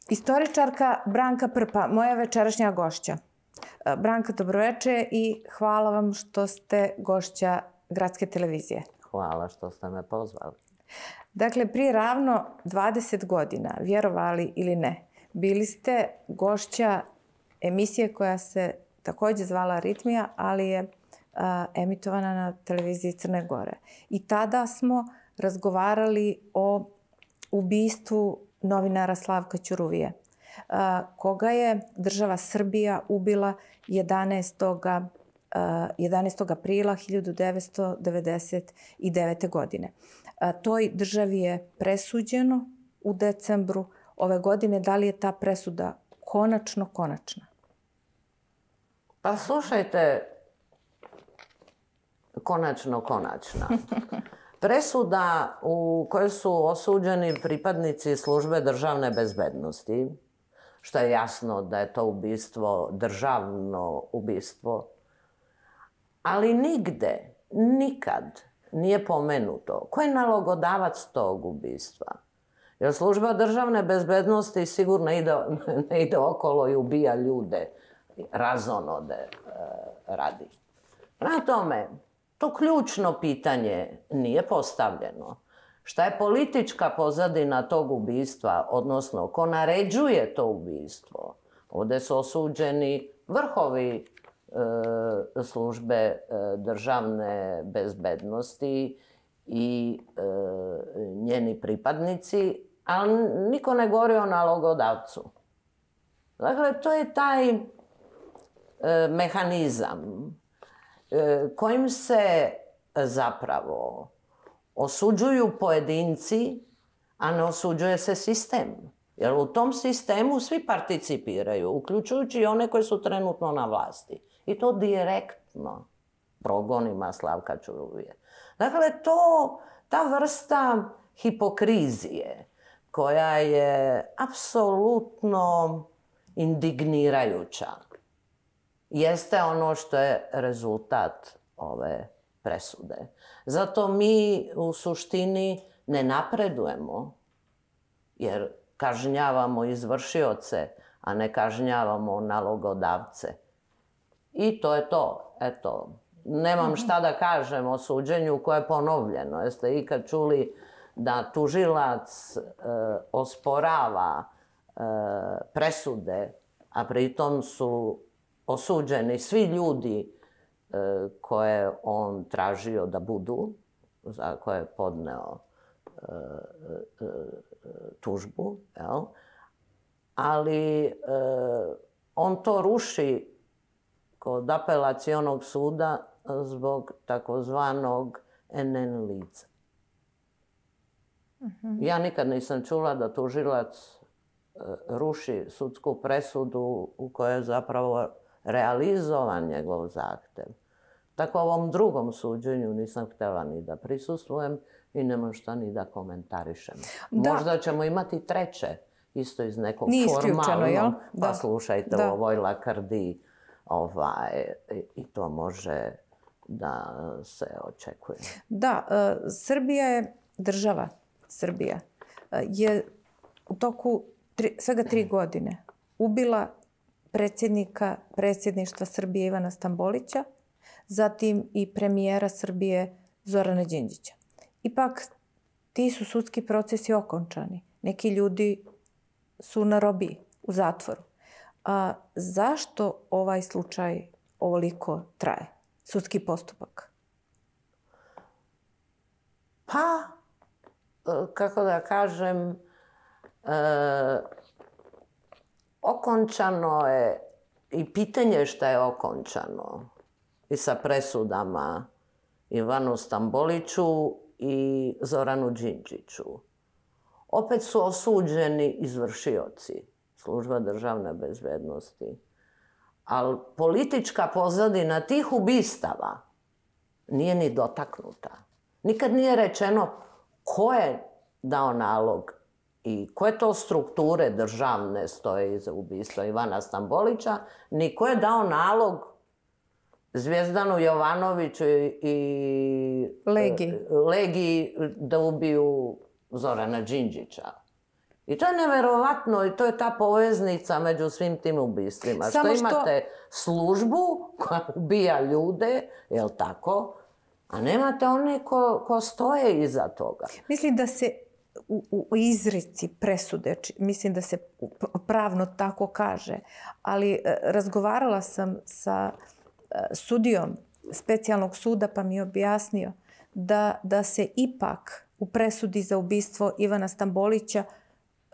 Istoričarka Branka Prpa, moja večerašnja gošća. Branka, dobroveče i hvala vam što ste gošća Gradske televizije. Hvala što ste me pozvali. Dakle, prije ravno 20 godina, vjerovali ili ne, bili ste gošća emisije koja se također zvala Ritmija, ali je emitovana na televiziji Crne Gore. I tada smo razgovarali o ubistvu novinara Slavka Ćuruvije, koga je država Srbija ubila 11. aprila 1999. godine. Toj državi je presuđeno u decembru ove godine. Da li je ta presuda konačna? Pa slušajte, konačna. Presuda u kojoj su osuđeni pripadnici službe državne bezbednosti, što je jasno da je to ubistvo, državno ubistvo, ali nigde, nikad nije pomenuto ko je nalogodavac tog ubistva. Jer služba državne bezbednosti sigurno ne ide okolo i ubija ljude, razonode radi. Prema tome, to ključno pitanje nije postavljeno. Šta je politička pozadina tog ubistva, odnosno ko naređuje to ubistvo? Ovdje su osuđeni vrhovi službe državne bezbednosti i njeni pripadnici, ali niko ne govori o nalogodavcu. Dakle, to je taj mehanizam kojim se zapravo osuđuju pojedinci, a ne osuđuje se sistem. Jer u tom sistemu svi participiraju, uključujući i one koji su trenutno na vlasti. I to direktno progonima Slavka Ćuruvije. Dakle, ta vrsta hipokrizije koja je apsolutno indignirajuća jeste ono što je rezultat ove presude. Zato mi u suštini ne napredujemo, jer kažnjavamo izvršioce, a ne kažnjavamo nalogodavce. I to je to. Eto, nemam šta da kažem o suđenju koje je ponovljeno. Jeste ikad čuli da tužilac osporava presude, a pritom su osuđeni svi ljudi koje on tražio da budu, za koje je podneo tužbu, ali on to ruši kod apelacionog suda zbog takozvanog NN lica. Ja nikad nisam čula da tužilac ruši sudsku presudu u kojoj je zapravo realizovan njegov zahtev. Tako ovom drugom suđenju nisam htjela ni da prisustvujem i nemam šta ni da komentarišem. Možda ćemo imati treće, isto iz nekog formalnog, pa slušajte o ovoj lakrdiji i to može da se očekuje. Da, Srbija je država. Srbija je u toku svega 3 godine ubila predsjedništva Srbije Ivana Stambolića, zatim i premijera Srbije Zorana Đinđića. Ipak, ti su sudski procesi okončani. Neki ljudi su na robiji, u zatvoru. Zašto ovaj slučaj ovoliko traje, sudski postupak? Pa, kako da kažem, okončano je i pitanje šta je okončano i sa presudama Ivanu Stamboliću i Zoranu Đinđiću. Opet su osuđeni izvršioci, služba državne bezbednosti. Ali politička pozadina tih ubistava nije ni dotaknuta. Nikad nije rečeno ko je dao nalog i koje to strukture državne stoje iza ubistva Ivana Stambolića, ni ko je dao nalog Zvijezdanu Jovanoviću i Legiji da ubiju Zorana Đinđića. I to je neverovatno i to je ta poveznica među svim tim ubistvima. Što imate službu koja ubija ljude, jel tako? A nemate one ko stoje iza toga. Mislim da se u izreci presude, mislim da se pravno tako kaže, ali razgovarala sam sa sudijom specijalnog suda pa mi je objasnio da se ipak u presudi za ubistvo Ivana Stambolića,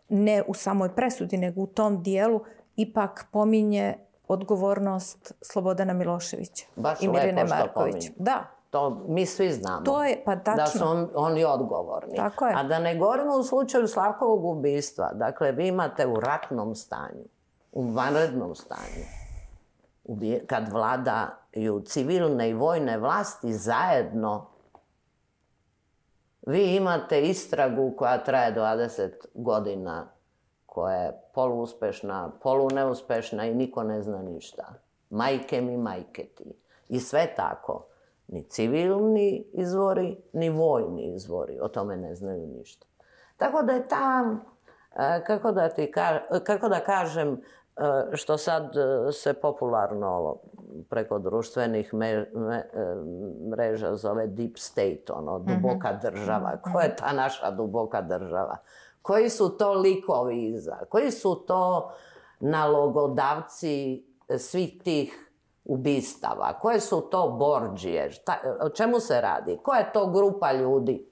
ne u samoj presudi, nego u tom dijelu, ipak pominje odgovornost Slobodana Miloševića i Mirjane Marković. Da. To mi svi znamo. To je, pa tačno. Da su oni odgovorni. Tako je. A da ne govorimo u slučaju Slavkovog ubistva. Dakle, vi imate u ratnom stanju, u vanrednom stanju, kad vladaju civilne i vojne vlasti zajedno, vi imate istragu koja traje 20 godina, koja je poluuspešna, poluneuspešna i niko ne zna ništa. Majke mi, majke ti. I sve tako. Ni civilni izvori, ni vojni izvori o tome ne znaju ništa. Tako da je tam, kako da kažem, što sad se popularno preko društvenih mreža zove deep state, duboka država. Ko je ta naša duboka država? Koji su to likovi iza? Koji su to nalogodavci svih tih ubistava? Koje su to bordžije? O čemu se radi? Koja je to grupa ljudi?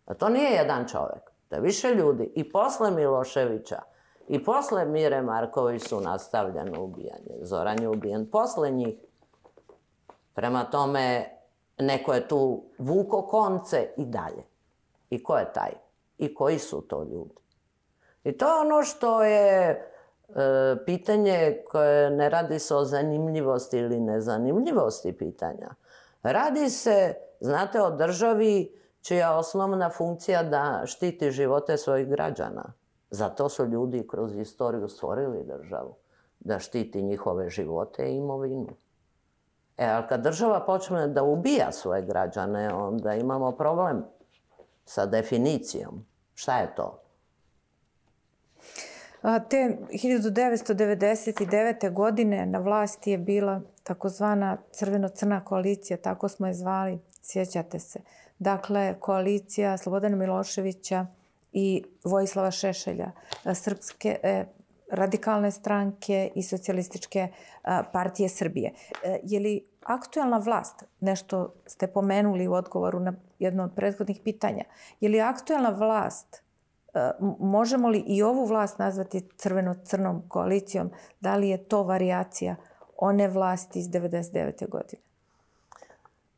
A to nije jedan čovjek. To je više ljudi. I posle Miloševića i posle Mire Marković su nastavljeno ubijanje. Zoran je ubijen posle njih. Prema tome, neko je tu vuko konce i dalje. I ko je taj? I koji su to ljudi? I to je ono što je pitanje koje ne radi se o zanimljivosti ili nezanimljivosti pitanja. Radi se, znate, o državi čija je osnovna funkcija da štiti živote svojih građana. Zato su ljudi kroz istoriju stvorili državu. Da štiti njihove živote i imovinu. Ali kad država počne da ubija svoje građane, onda imamo problem sa definicijom. Šta je to? Te 1999. godine na vlasti je bila takozvana crveno-crna koalicija, tako smo je zvali, sjećate se. Dakle, koalicija Slobodana Miloševića i Vojislava Šešelja, Srpske radikalne stranke i Socijalističke partije Srbije. Je li aktuelna vlast, nešto ste pomenuli u odgovoru na jedno od prethodnih pitanja, je li aktuelna vlast, možemo li i ovu vlast nazvati crveno-crnom koalicijom, da li je to varijacija one vlasti iz 1999. godine?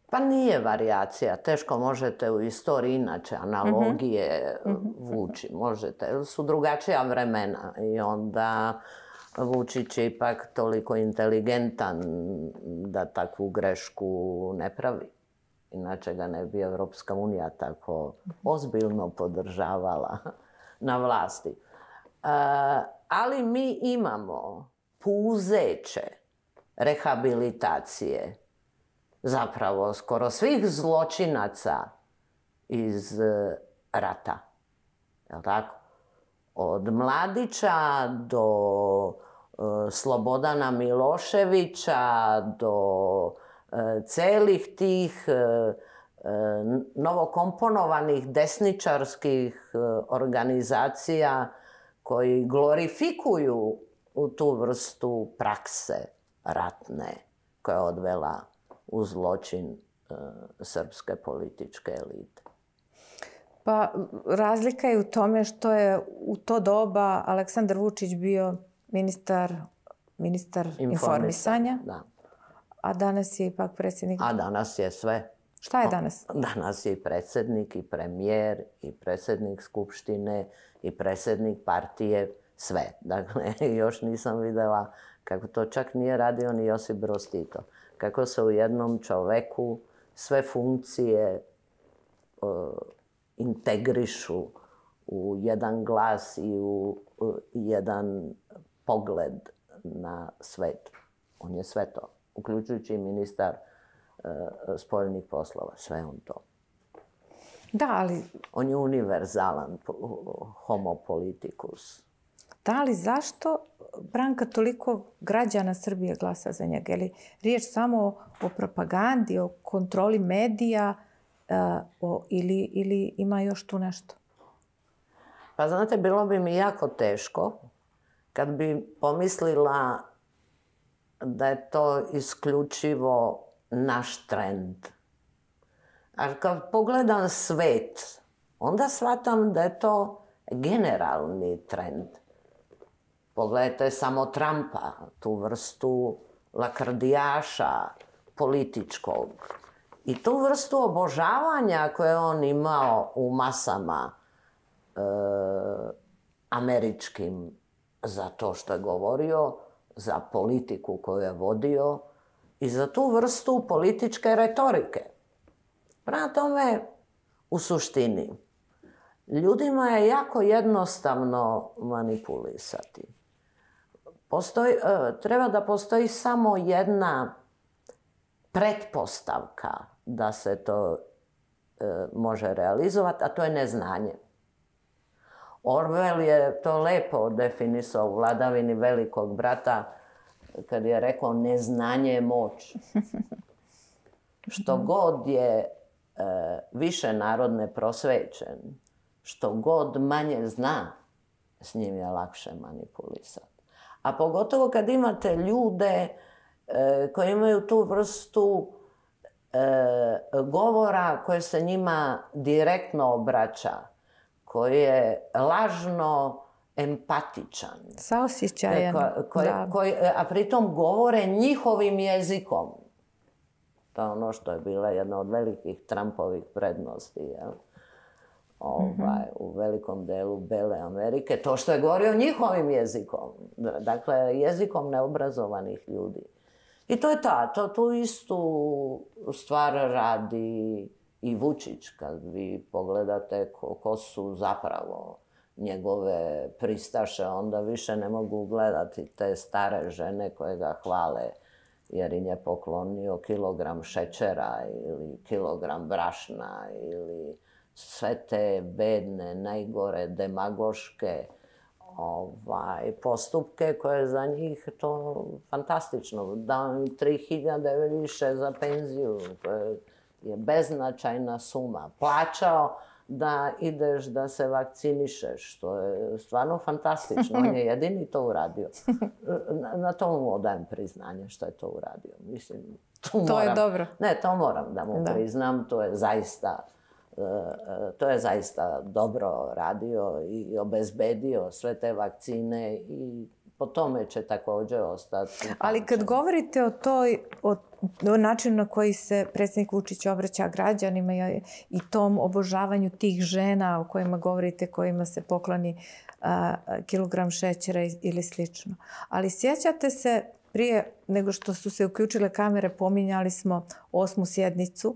Pa nije varijacija. Teško možete u istoriji inače analogije vući. Možete, jer su drugačija vremena i onda Vučić je ipak toliko inteligentan da takvu grešku ne pravi. Inače ga ne bi Evropska unija tako ozbiljno podržavala na vlasti. Ali mi imamo puzeće rehabilitacije zapravo skoro svih zločinaca iz rata. Jel' tako? Od Mladića do Slobodana Miloševića, do celih tih novokomponovanih desničarskih organizacija koji glorifikuju tu vrstu prakse ratne koja je odvela u zločin srpske političke elite. Pa razlika je u tome što je u to doba Aleksandar Vučić bio ministar informisanja, a danas je ipak predsjednik... A danas je sve. Šta je danas? Danas je i predsjednik, i premijer, i predsjednik Skupštine, i predsjednik partije, sve. Dakle, još nisam videla kako to čak nije radio ni Josip Broz Tito. Kako se u jednom čoveku sve funkcije integrišu u jedan glas i u jedan pogled na svet. On je sve to, uključujući i ministar spoljnih poslova. Sve on to. Da, ali... On je univerzalan homo politicus. Da, ali zašto Branka toliko građana Srbije glasa za njega? Je li riječ samo o propagandi, o kontroli medija ili ima još tu nešto? Pa znate, bilo bi mi jako teško kad bi pomislila da je to isključivo naš trend. A kad pogledam svet, onda shvatam da je to generalni trend. Pogledajte samo Trumpa, tu vrstu lakrdijaša političkog. I tu vrstu obožavanja koje on imao u masama američkim za to što je govorio, za politiku koju je vodio i za tu vrstu političke retorike. Prema tome, u suštini, ljudima je jako jednostavno manipulisati. Treba da postoji samo jedna pretpostavka da se to može realizovati, a to je neznanje. Orwell je to lepo definisao u Vladavini velikog brata kad je rekao neznanje je moć. Što god je više narod neprosvećen, što god manje zna, s njim je lakše manipulisati. A pogotovo kad imate ljude koji imaju tu vrstu govora koje se njima direktno obraća, koji je lažno empatičan. Saosjećajan. A pritom govore njihovim jezikom. To je ono što je bila jedna od velikih Trumpovih prednosti. Jel? U velikom delu Bele Amerike. To što je govorio njihovim jezikom. Dakle, jezikom neobrazovanih ljudi. I to je tu istu stvar radi i Vučić. Kad vi pogledate ko su zapravo njegove pristaše, onda više ne mogu gledati te stare žene koje ga hvale jer im je poklonio kilogram šećera ili kilogram brašna ili sve te bedne, najgore, demagoške postupke koje za njih to fantastično. Dao im 3.000 više za penziju, koje je beznačajna suma. Plaćao da ideš da se vakcinišeš, što je stvarno fantastično. On je jedini to uradio. Na to mu odajem priznanje što je to uradio. Mislim, to je dobro. Ne, to moram da mu priznam. To je zaista dobro radio i obezbedio sve te vakcine i po tome će također ostati. Ali kad govorite o načinu na koji se predsjednik Vučić obraća građanima i tom obožavanju tih žena o kojima govorite, kojima se pokloni kilogram šećera ili slično. Ali sjećate se, prije nego što su se uključile kamere, pominjali smo 8. sjednicu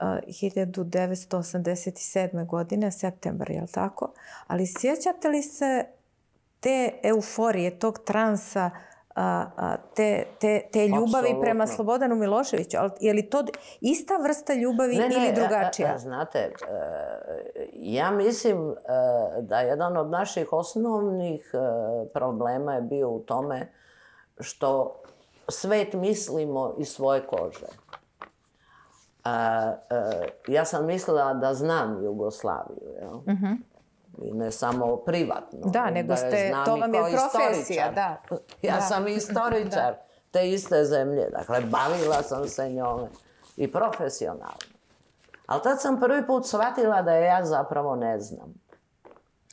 1987. godine, septembar, je li tako? Ali sjećate li se te euforije, tog transa, te ljubavi prema Slobodanu Miloševiću? Je li to ista vrsta ljubavi ili drugačija? Znate, ja mislim da jedan od naših osnovnih problema je bio u tome što svet mislimo iz svoje kože. Ja sam mislila da znam Jugoslaviju, jel? I ne samo privatno. Da, nego to vam je profesija, da. Ja sam istoričar te iste zemlje, dakle, bavila sam se njome i profesionalno. Ali tad sam prvi put shvatila da je ja zapravo ne znam.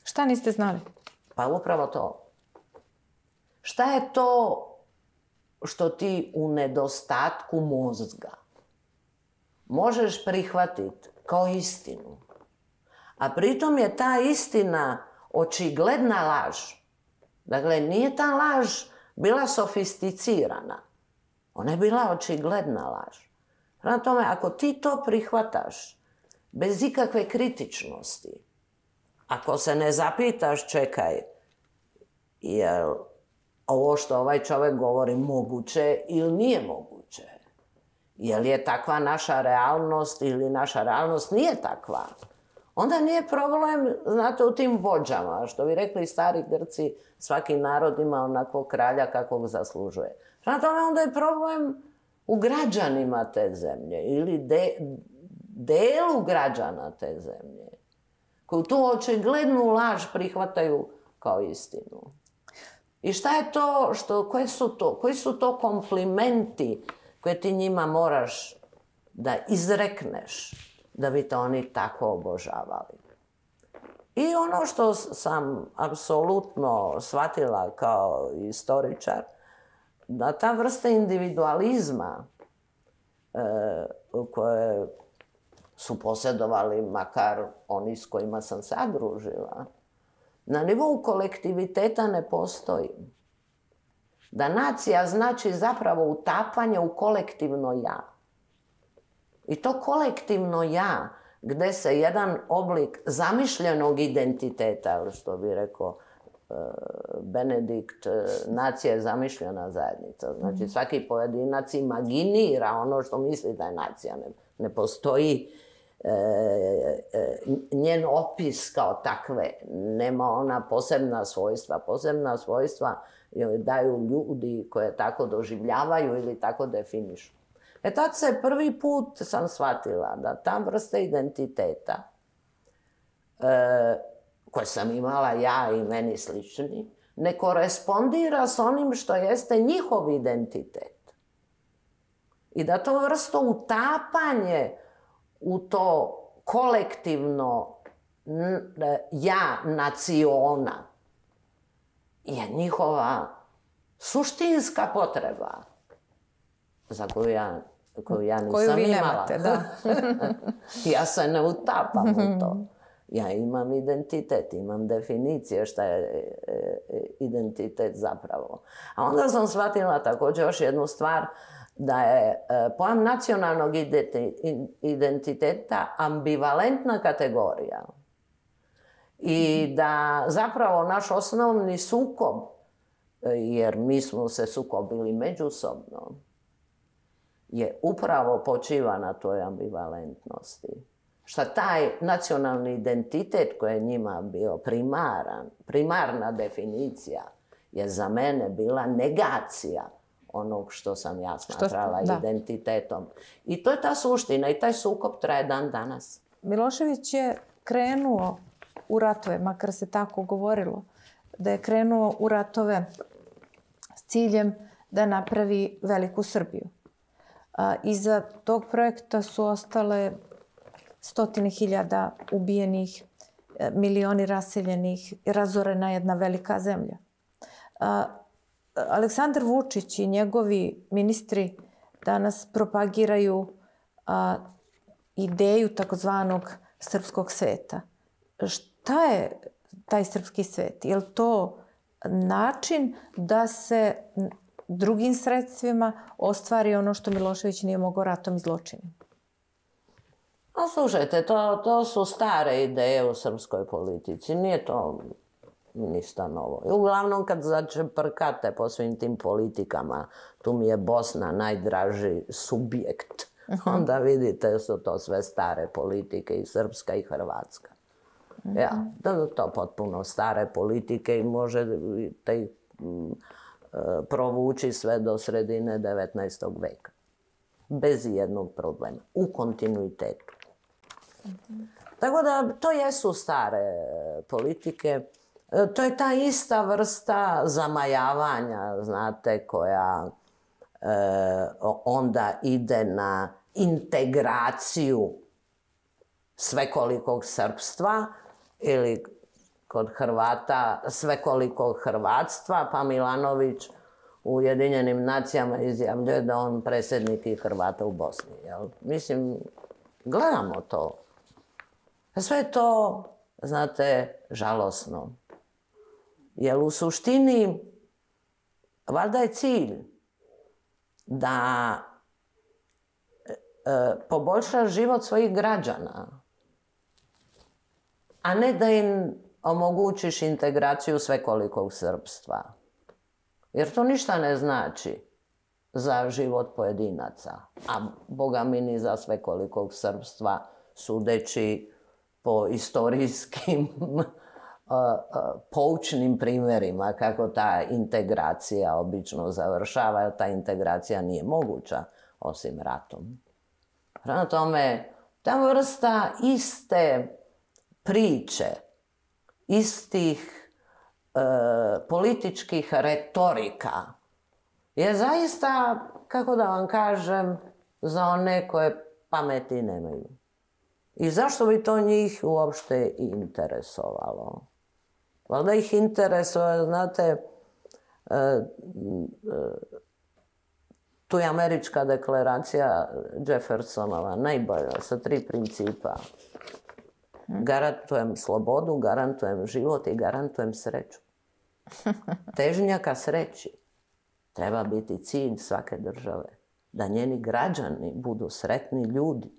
Šta niste znali? Pa upravo to. Šta je to što ti u nedostatku mozga možeš prihvatiti kao istinu? A pritom je ta istina očigledna laž. Dakle, nije ta laž bila sofisticirana. Ona je bila očigledna laž. Prema tome, ako ti to prihvataš bez ikakve kritičnosti, ako se ne zapitaš, čekaj, je li ovo što ovaj čovjek govori moguće ili nije moguće? Je li je takva naša realnost ili naša realnost nije takva? onda nije problem, znate, u tim vođama. Što bi rekli stari Grci, svaki narod ima onakvog kralja kakvog zaslužuje. Znate, onda je problem u građanima te zemlje ili delu građana te zemlje, koji tu očiglednu laž prihvataju kao istinu. I šta je to, koji su to komplimenti koje ti njima moraš da izrekneš da bi te oni tako obožavali. I ono što sam apsolutno shvatila kao istoričar, da ta vrsta individualizma koje su posjedovali makar oni s kojima sam se družila, na nivou kolektiviteta ne postoji. Da nacija znači zapravo utapanje u kolektivno ja. I to kolektivno ja, gde se jedan oblik zamišljenog identiteta, što bi rekao Benedikt, nacija je zamišljena zajednica. Znači svaki pojedinac imaginira ono što misli da je nacija. Ne postoji njen opis kao takve. Nema ona posebna svojstva. Posebna svojstva daju ljudi koje tako doživljavaju ili tako definišu. Tad se prvi put sam shvatila da ta vrsta identiteta koje sam imala ja i meni slični, ne korespondira s onim što jeste njihov identitet. I da to vrsto utapanje u to kolektivno ja naciona je njihova suštinska potreba za koju ja nisam imala. Nemate, da. Ja se ne utapam u to. Ja imam identitet, imam definicije šta je identitet zapravo. A onda sam shvatila također još jednu stvar, da je pojam nacionalnog identiteta ambivalentna kategorija. I da zapravo naš osnovni sukob, jer mi smo se sukobili međusobno, je upravo počiva na toj ambivalentnosti. Šta taj nacionalni identitet koji je njima bio primarna definicija, je za mene bila negacija onog što sam ja smatrala identitetom. I to je ta suština i taj sukob traje dan danas. Milošević je krenuo u ratove, makar se tako govorilo, da je krenuo u ratove s ciljem da napravi veliku Srbiju. Iza tog projekta su ostale 100.000 ubijenih, milioni raseljenih, razorena jedna velika zemlja. Aleksandar Vučić i njegovi ministri danas propagiraju ideju takozvanog srpskog sveta. Šta je taj srpski svet? Je li to način da se drugim sredstvima ostvari ono što Milošević nije mogao ratom i zločinom? A slušajte, to su stare ideje u srpskoj politici. Nije to ništa novo. I uglavnom kad začeprkate po svim tim politikama, tu mi je Bosna najdraži subjekt, onda vidite su to sve stare politike, i srpska i hrvatska. Ja, to potpuno stare politike i možete ih provući sve do sredine 19. veka. Bez jednog problema. U kontinuitetu. Tako da to jesu stare politike. To je ta ista vrsta zamajavanja, znate, koja onda ide na integraciju svekolikog srpstva ili kod Hrvata svekolikog hrvatstva, pa Milanović u Ujedinjenim nacijama izjavljuje da on predsjednik i Hrvata u Bosni. Jel? Mislim, gledamo to. Sve je to, znate, žalosno. Jer u suštini, valjda je cilj da poboljša život svojih građana, a ne da im omogućiš integraciju svekolikog srpstva. Jer to ništa ne znači za život pojedinaca, a boga mi ni za svekolikog srpstva, sudeći po istorijskim poučnim primjerima kako ta integracija obično završava, jer ta integracija nije moguća osim ratom. Prema tome, ta vrsta iste priče, istih političkih retorika je zaista, kako da vam kažem, za one koje pameti nemaju. I zašto bi to njih uopšte interesovalo? Valjda ih interesuje, znate, tu je američka deklaracija Jeffersonova, najbolja, sa 3 principa. Garantujem slobodu, garantujem život i garantujem sreću. Težnja ka sreći treba biti cilj svake države. Da njeni građani budu sretni ljudi.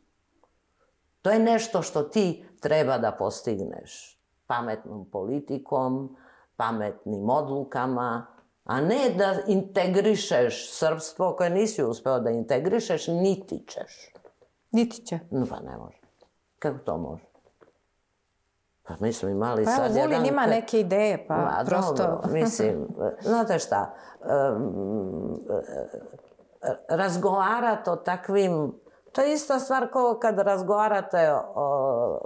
To je nešto što ti treba da postigneš pametnom politikom, pametnim odlukama, a ne da integrišeš srpstvo koje nisi uspeo da integrišeš, niti ćeš. Niti će. Pa ne može. Kako to može? Pa mi smo imali sad jedan... Pa evo, Vulin ima neke ideje, pa prosto... Dobro, mislim, znate šta, razgovarati o takvim... To je ista stvar kao kad razgovarate,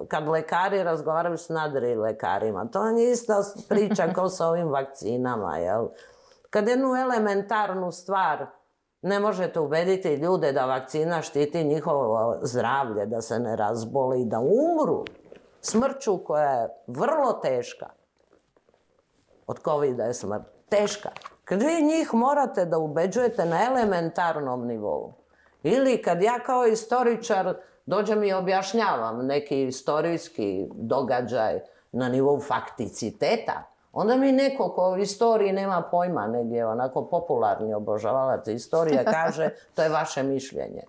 kad lekari razgovaraju s nadri lekarima. To je ista priča kao sa ovim vakcinama, jel? Kad jednu elementarnu stvar ne možete ubediti ljude da vakcina štiti njihovo zdravlje, da se ne razbole i da umru smrću koja je vrlo teška. Od COVID-a je smrt teška. Kad vi njih morate da ubeđujete na elementarnom nivou, ili kad ja kao istoričar dođem i objašnjavam neki istorijski događaj na nivou fakticiteta, onda mi neko ko u istoriji nema pojma, negdje onako popularni obožavalac istorije kaže to je vaše mišljenje.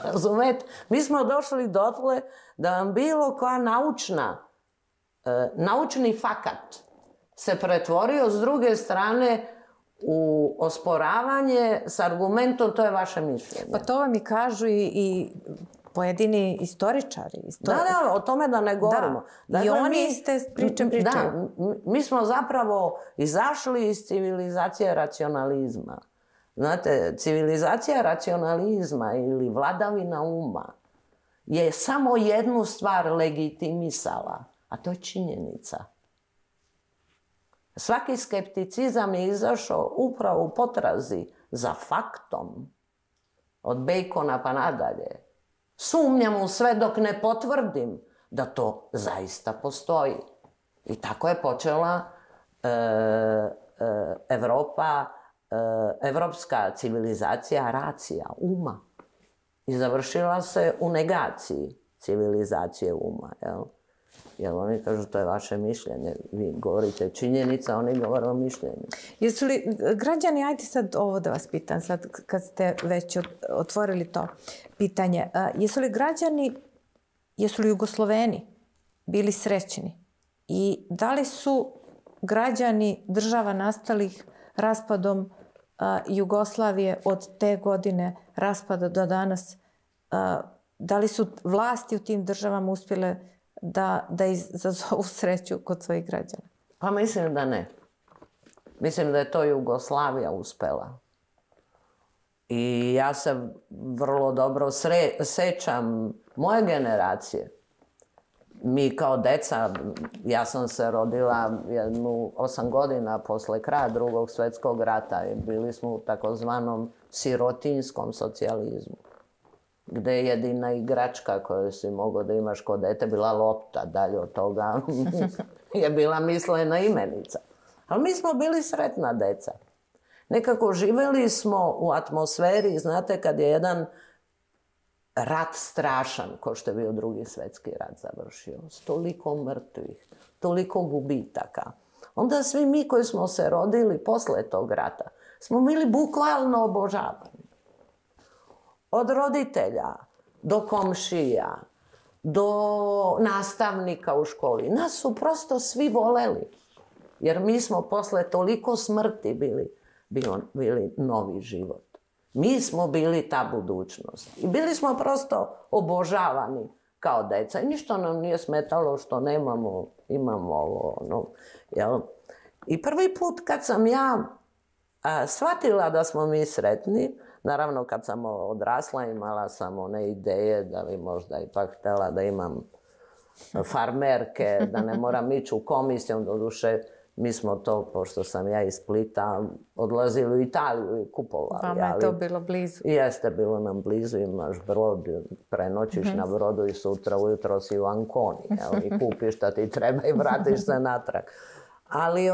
Razumete? Mi smo došli dotle da vam bilo koja naučni fakat se pretvorio s druge strane u osporavanje s argumentom to je vaše mišljenje. Pa to vam i kažu i pojedini istoričari. Da, o tome da ne govorimo. Da. I oni iste priče pričaju. Da, mi smo zapravo izašli iz civilizacije racionalizma. Znate, civilizacija racionalizma ili vladavina uma je samo jednu stvar legitimisala, a to je činjenica. Svaki skepticizam je izašao upravo u potrazi za faktom, od Bacona pa nadalje. Sumnjam u sve dok ne potvrdim da to zaista postoji. I tako je počela evropska civilizacija racija, uma. I završila se u negaciji civilizacije uma, jel? Jer oni kažu to je vaše mišljenje. Vi govorite činjenica, oni govore o mišljenju. Jesu li građani, ajde sad ovo da vas pitam, sad kad ste već otvorili to pitanje, jesu li građani, jesu li Jugosloveni bili srećni? I da li su građani država nastalih raspadom Jugoslavije od te godine raspada do danas, da li su vlasti u tim državama uspjele da izazovu sreću kod svojih građana? Pa mislim da ne. Mislim da je to Jugoslavija uspela. I ja se vrlo dobro sećam moje generacije. Mi kao deca, ja sam se rodila 8 godina posle kraja Drugog svjetskog rata i bili smo u takozvanom sirotinskom socijalizmu, gde je jedina igračka koju si mogao da imaš kod dete bila lopta, dalje od toga je bila mislena imenica. Ali mi smo bili sretna deca. Nekako živjeli smo u atmosferi, znate, kad je jedan rat strašan, ko što je bio Drugi svjetski rat završio, s toliko mrtvih, toliko gubitaka. Onda svi mi koji smo se rodili posle tog rata smo bili bukvalno obožavani. Od roditelja, do komšija, do nastavnika u školi. Nas su prosto svi voleli. Jer mi smo posle toliko smrti bili novi život. Mi smo bili ta budućnost. I bili smo prosto obožavani kao deca. I ništa nam nije smetalo što imamo ovo, ono, jel? I prvi put kad sam ja shvatila da smo mi sretni, naravno kad sam odrasla imala sam one ideje da bi možda ipak htjela da imam farmerke, da ne moram ići u komisiju, doduše mi smo to, pošto sam ja iz Splita, odlazili u Italiju i kupovali. Vama je to bilo blizu. Jeste, bilo nam blizu, imaš brod, prenoćiš na brodu i sutra ujutro si u Anconi, i kupiš šta ti treba i vratiš se natrag. Ali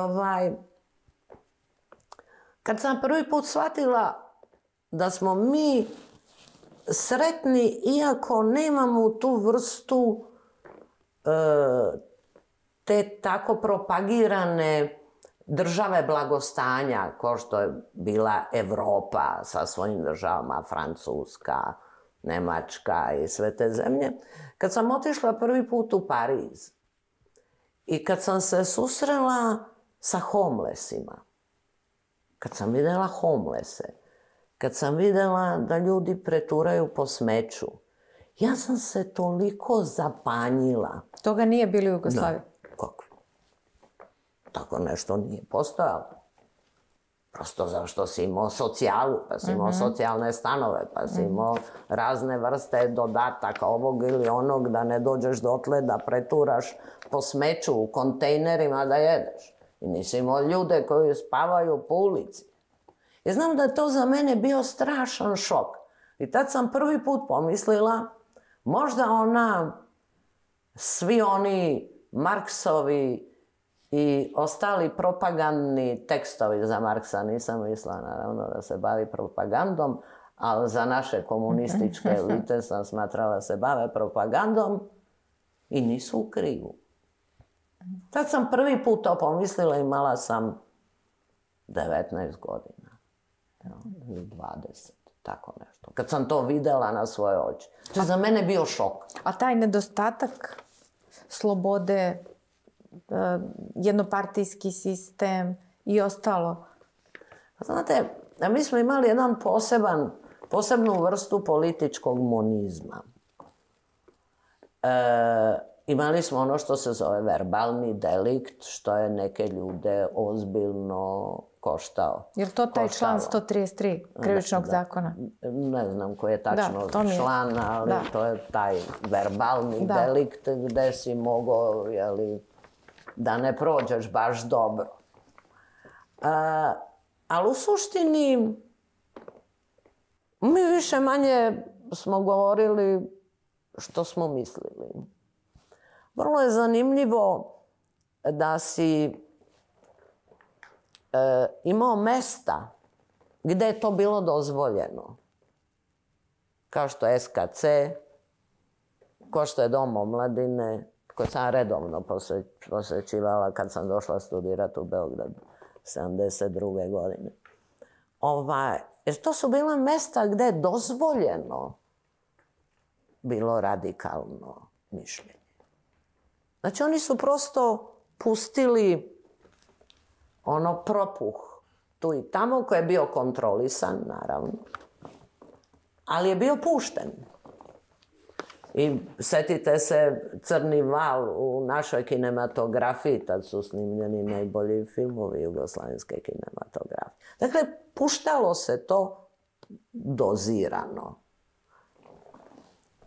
kad sam prvi put shvatila da smo mi sretni iako nemamo tu vrstu te tako propagirane države blagostanja, kao što je bila Evropa sa svojim državama, Francuska, Nemačka i sve te zemlje. Kad sam otišla prvi put u Pariz i kad sam se susrela sa homelessima, kad sam vidjela homelesse, kad sam vidjela da ljudi preturaju po smeću, ja sam se toliko zapanjila. Toga nije bilo u Jugoslaviji? Kako? Tako nešto nije postojalo. Prosto zašto si imao socijalu, pa si imao socijalne stanove, pa si imao razne vrste dodataka ovog ili onog, da ne dođeš dotle da preturaš po smeću u kontejnerima da jedeš. I nisi imao ljude koji spavaju po ulici. I znam da je to za mene bio strašan šok. I tad sam prvi put pomislila, možda svi oni Marksovi i ostali propagandni tekstovi za Marksa, nisam mislila naravno da se bavi propagandom, ali za naše komunističke elite sam smatrala da se bave propagandom i nisu u krivu. Tad sam prvi put to pomislila, imala sam 19 godina, 20, tako nešto. Kad sam to videla na svoje oči. To je za mene bio šok. A taj nedostatak slobode, jednopartijski sistem i ostalo? Znate, mi smo imali jedan posebnu vrstu političkog monizma. Imali smo ono što se zove verbalni delikt, što je neke ljude ozbiljno koštao. Je li to taj član 133 krivičnog zakona? Ne znam koji je tačno član, ali to je taj verbalni delikt gde si mogao, da ne prođeš baš dobro. Ali u suštini mi više manje smo govorili što smo mislili. Vrlo je zanimljivo da si imao mesta gde je to bilo dozvoljeno. Kao što je SKC, kao što je Dom omladine, koji sam redovno posvećivala kad sam došla studirati u Beograd 72. godine. Jer to su bila mesta gde je dozvoljeno bilo radikalno mišljenje. Znači oni su prosto pustili propuh tu i tamo koji je bio kontrolisan, naravno, ali je bio pušten. I setite se Crni val u našoj kinematografiji, tad su snimljeni najbolji filmovi jugoslavenske kinematografije. Dakle, puštalo se to dozirano.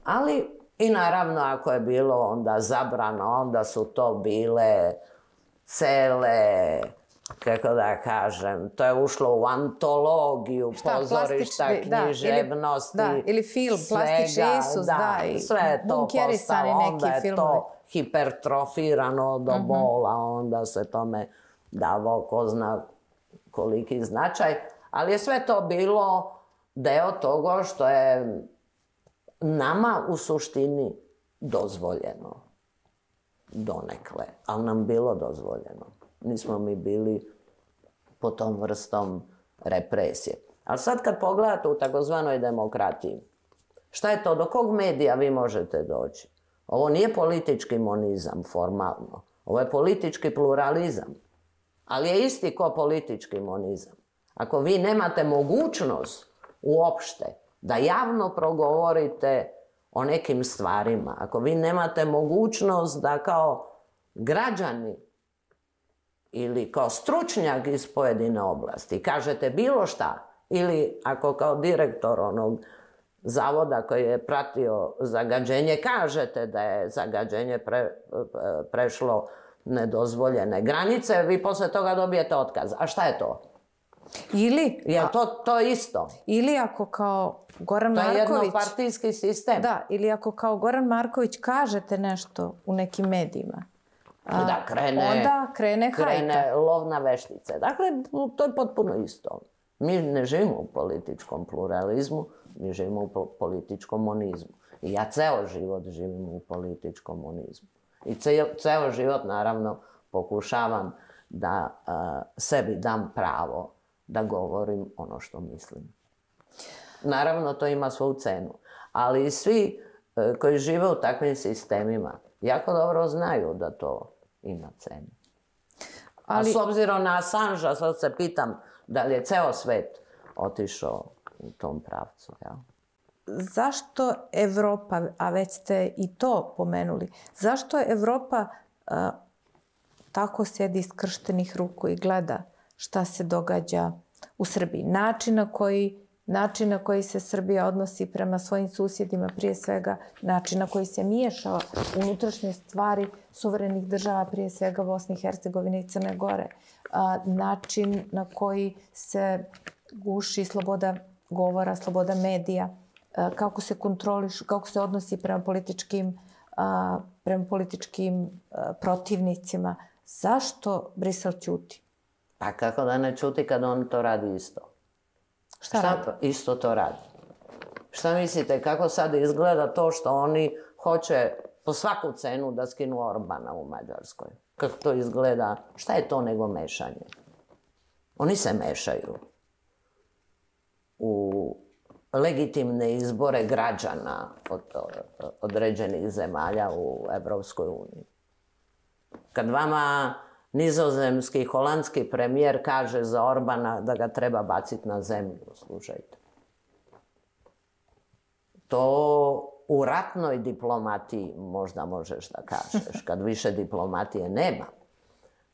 Ali i naravno ako je bilo onda zabrano, onda su to bile cele, kako da kažem, to je ušlo u antologiju pozorišta, književnosti, ili film, Plastični Isus, sve je to postalo, onda je to hipertrofirano do bola, onda se tome davao ko zna koliki značaj, ali je sve to bilo deo toga što je nama u suštini dozvoljeno donekle, ali nam bilo dozvoljeno. Nismo mi bili po tom vrstom represije. Ali sad kad pogledate u takozvanoj demokratiji, šta je to, do kog medija vi možete doći? Ovo nije politički monizam formalno, ovo je politički pluralizam, ali je isti ko politički monizam. Ako vi nemate mogućnost uopšte da javno progovorite o nekim stvarima, ako vi nemate mogućnost da kao građani ili kao stručnjak iz pojedine oblasti kažete bilo šta, ili ako kao direktor onog zavoda koji je pratio zagađenje kažete da je zagađenje prešlo nedozvoljene granice, vi posle toga dobijete otkaz. A šta je to? Ili... Je to isto? Ili ako kao Goran Marković... To je jednopartijski sistem. Da, ili ako kao Goran Marković kažete nešto u nekim medijima, onda krene hajka. Krene lov na veštice. Dakle, to je potpuno isto. Mi ne živimo u političkom pluralizmu, mi živimo u političkom monizmu. I ja ceo život živim u političkom monizmu. I ceo život, naravno, pokušavam da sebi dam pravo da govorim ono što mislim. Naravno, to ima svoju cenu. Ali svi koji žive u takvim sistemima jako dobro znaju da to ima cenu. A s obzirom na Assangea, sad se pitam da li je ceo svet otišao u tom pravcu. Ja? Zašto Evropa, a već ste i to pomenuli, zašto Evropa tako sjedi skrštenih ruku i gleda šta se događa u Srbiji? Način na koji se Srbija odnosi prema svojim susjedima, prije svega način na koji se miješa u unutrašnje stvari suverenih država, prije svega Bosne i Hercegovine i Crne Gore, način na koji se guši sloboda govora, sloboda medija, kako se kontroliš, kako se odnosi prema političkim protivnicima. Zašto Brisel ćuti? Pa kako da ne ćuti kad on to radi isto? Šta radi? Isto to radi. Šta mislite, kako sad izgleda to što oni hoće po svaku cenu da skinu Orbana u Mađarskoj? Kako to izgleda? Šta je to nego mešanje? Oni se mešaju u legitimne izbore građana od određenih zemalja u Evropskoj uniji. Kad vama nizozemski, holandski premijer kaže za Orbana da ga treba baciti na zemlju, slušajte. To u ratnoj diplomatiji možda možeš da kažeš, kad više diplomatije nema.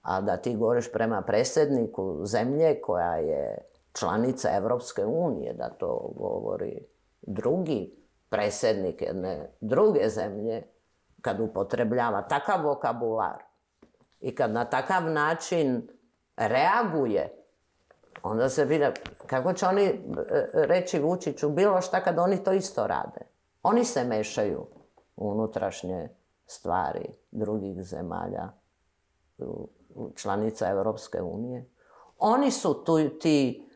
A da ti govoriš prema predsjedniku zemlje koja je članica Evropske unije, da to govori drugi predsjednik jedne druge zemlje, kad upotrebljava takav vokabular i kad na takav način reaguje, onda se vidi kako će oni reći Vučiću bilo šta kad oni to isto rade. Oni se mešaju u unutrašnje stvari drugih zemalja, članica Evropske unije. Oni su ti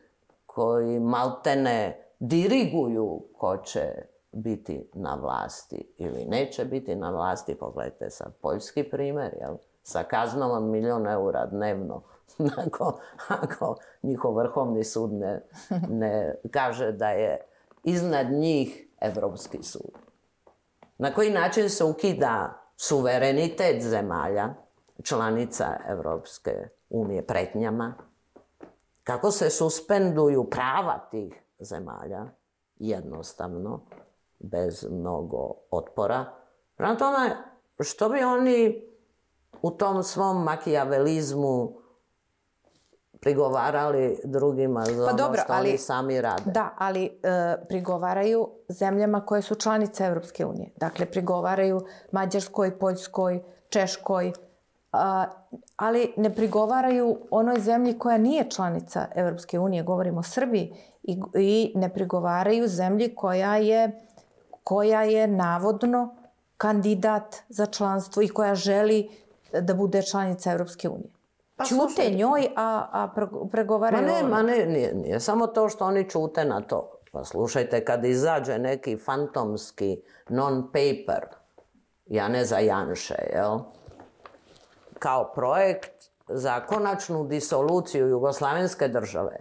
koji maltene diriguju ko će biti na vlasti ili neće biti na vlasti. Pogledajte sad poljski primjer, jel? Sa kaznom od 1.000.000 eura dnevno, ako njihov vrhovni sud ne kaže da je iznad njih Evropski sud. Na koji način se ukida suverenitet zemalja, članica Evropske unije pretnjama, kako se suspenduju prava tih zemalja, jednostavno, bez mnogo otpora. Prema tome, što bi oni u tom svom makijavelizmu prigovarali drugima za ono što oni sami rade? Da, ali prigovaraju zemljama koje su članice Evropske unije. Dakle, prigovaraju Mađarskoj, Poljskoj, Češkoj, ali ne prigovaraju onoj zemlji koja nije članica Evropske unije, govorimo o Srbiji, i ne prigovaraju zemlji koja je navodno kandidat za članstvo i koja želi da bude članica Evropske unije. Čute njoj, a pregovaraju... Ma ne, nije samo to što oni čute na to. Pa slušajte, kad izađe neki fantomski non-paper Janeza Janše, jel? Kao projekt za konačnu disoluciju Jugoslavenske države.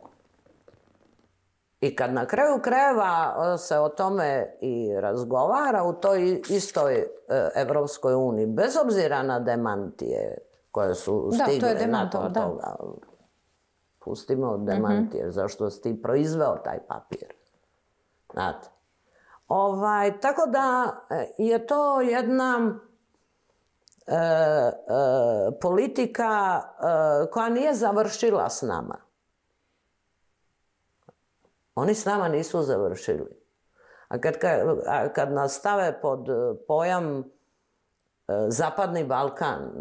I kad na kraju krajeva se o tome i razgovara u toj istoj Evropskoj uniji, bez obzira na demantije koje su stigle nakon toga. Pustimo demantije, zašto si ti proizveo taj papir. Znate, Tako da je to jedna politika koja nije završila s nama. Oni s nama nisu završili. A kad nas stave pod pojam Zapadni Balkan,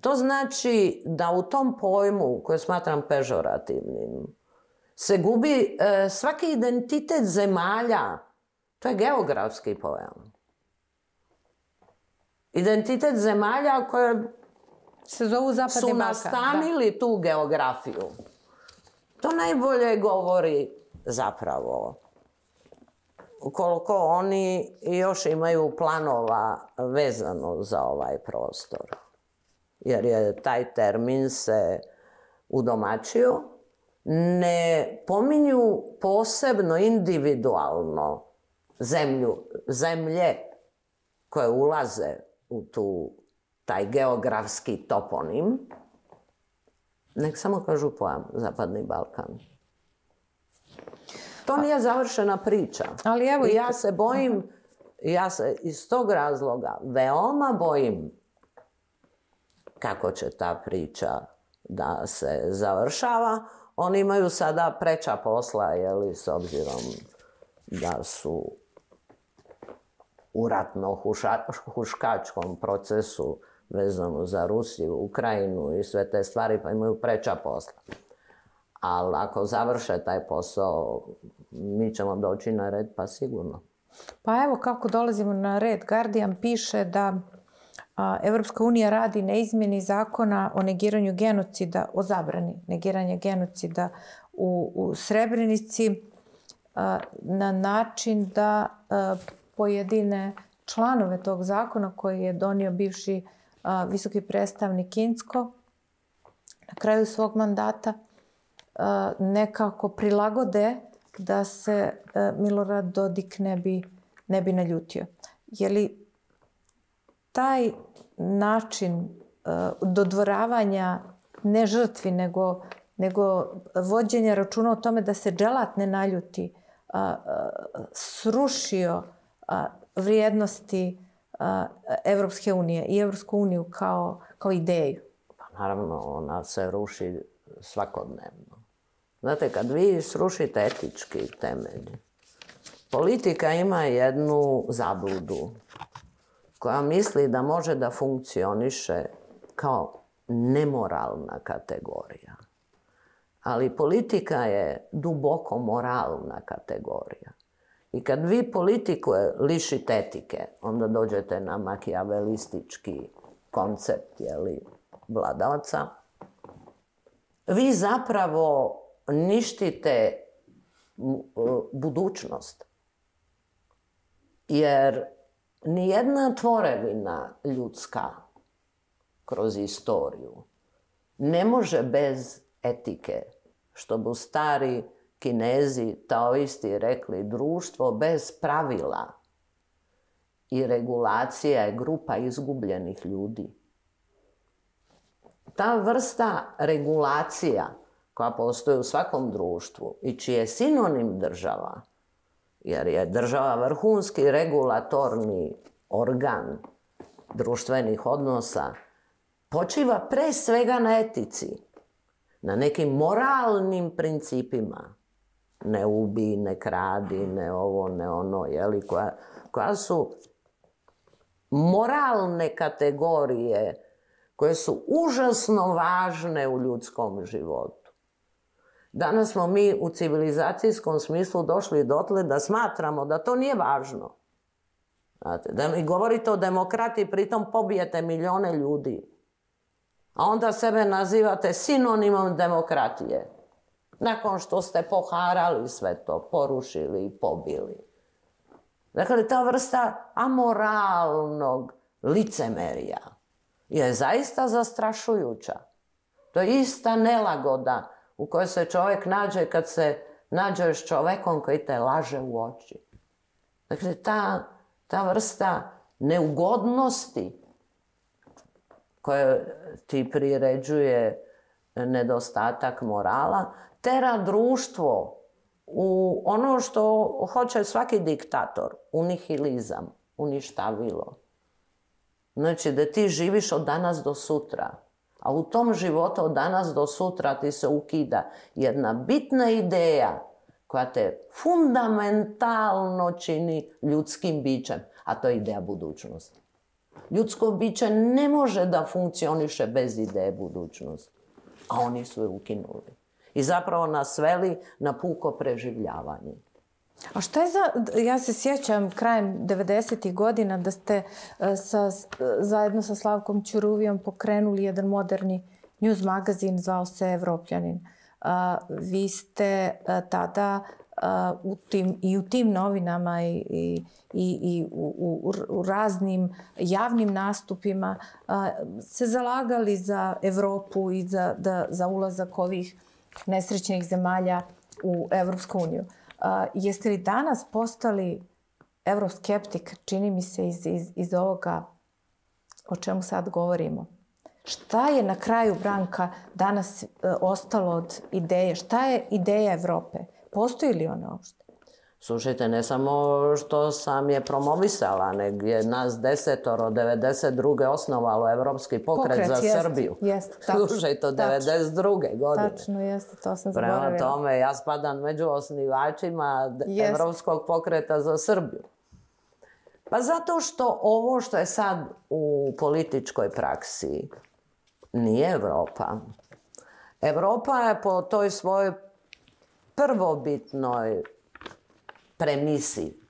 to znači da u tom pojmu, koji smatram pežorativnim, se gubi svaki identitet zemalja. To je geografski pojam. Identitet zemalja koje se zovu Zapadni su Balkan. nastanili tu geografiju. To najbolje govori zapravo koliko oni još imaju planova vezano za ovaj prostor. Jer je taj termin se udomaćio. Ne pominju posebno individualno zemlje koje ulaze u taj geografski toponim, nek samo kažu pojam Zapadni Balkan. To nije završena priča. Ali evo I ja se bojim, ja se iz tog razloga veoma bojim kako će ta priča da se završava. Oni imaju sada preča posla, s obzirom da su u ratno-huškačkom procesu vezano za Rusiju, Ukrajinu i sve te stvari, pa imaju preča posla. Ali ako završe taj posao, mi ćemo doći na red, pa sigurno. Pa evo kako dolazimo na red. Guardian piše da Evropska unija radi na izmjeni zakona o negiranju genocida, o zabrani negiranja genocida u Srebrenici na način da pojedine članove tog zakona koji je donio bivši visoki predstavnik Incko na kraju svog mandata nekako prilagode da se Milorad Dodik ne bi naljutio. Je li taj način dodvoravanja ne žrtvi, nego vođenja računa o tome da se dželat ne naljuti, srušio vrijednosti Evropske unije i Evropsku uniju kao ideju? Pa naravno, ona se ruši svakodnevno. Znate, kad vi srušite etički temelj, politika ima jednu zabludu koja misli da može da funkcioniše kao nemoralna kategorija. Ali politika je duboko moralna kategorija. I kad vi politiku lišite etike, onda dođete na makijavelistički koncept vladavca. Vi zapravo ništite budućnost. Jer nijedna tvorevina ljudska kroz istoriju ne može bez etike, što bi stari Kinezi taoisti rekli, društvo bez pravila i regulacija je grupa izgubljenih ljudi. Ta vrsta regulacija koja postoji u svakom društvu i čiji je sinonim država, jer je država vrhunski regulatorni organ društvenih odnosa, počiva pre svega na etici, na nekim moralnim principima. Ne ubij, ne kradi, ne ovo, ne ono, koja su moralne kategorije koje su užasno važne u ljudskom životu. Danas smo mi u civilizacijskom smislu došli dotle da smatramo da to nije važno. Znate, da mi govorite o demokratiji, pritom pobijete milijone ljudi. A onda sebe nazivate sinonimom demokratije. Nakon što ste poharali sve to, porušili i pobili. Dakle, ta vrsta amoralnog licemerija je zaista zastrašujuća. To je ista nelagoda u kojoj se čovjek nađe kad se nađe s čovjekom koji te laže u oči. Dakle, ta vrsta neugodnosti koja ti priređuje nedostatak morala, tera društvo u ono što hoće svaki diktator, u nihilizam, uništavilo. Znači da ti živiš od danas do sutra, a u tom životu od danas do sutra ti se ukida jedna bitna ideja koja te fundamentalno čini ljudskim bićem, a to je ideja budućnosti. Ljudsko biće ne može da funkcioniše bez ideje budućnosti, a oni su je ukinuli. I zapravo nas sveli na puko preživljavanje. A šta je ja se sjećam krajem 90. godina da ste zajedno sa Slavkom Ćuruvijom pokrenuli jedan moderni news magazin, zvao se Evropljanin. Vi ste tada i u tim novinama i u raznim javnim nastupima se zalagali za Evropu i za ulazak ovih nesrećnih zemalja u Evropsku uniju. Jeste li danas postali euroskeptik, čini mi se iz ovoga o čemu sad govorimo? Šta je na kraju, Branka, danas ostalo od ideje? Šta je ideja Evrope? Postoji li ona uopšte? Slušajte, ne samo što sam je promovisala, nego je nas 10 od 92. osnovalo Evropski pokret za Srbiju. Slušajte, od 92. godine. Tačno, jeste, to sam zaboravila. Prema tome, ja spadam među osnivačima Evropskog pokreta za Srbiju. Pa zato što ovo što je sad u političkoj praksi nije Evropa. Evropa je po toj svojoj prvobitnoj premisi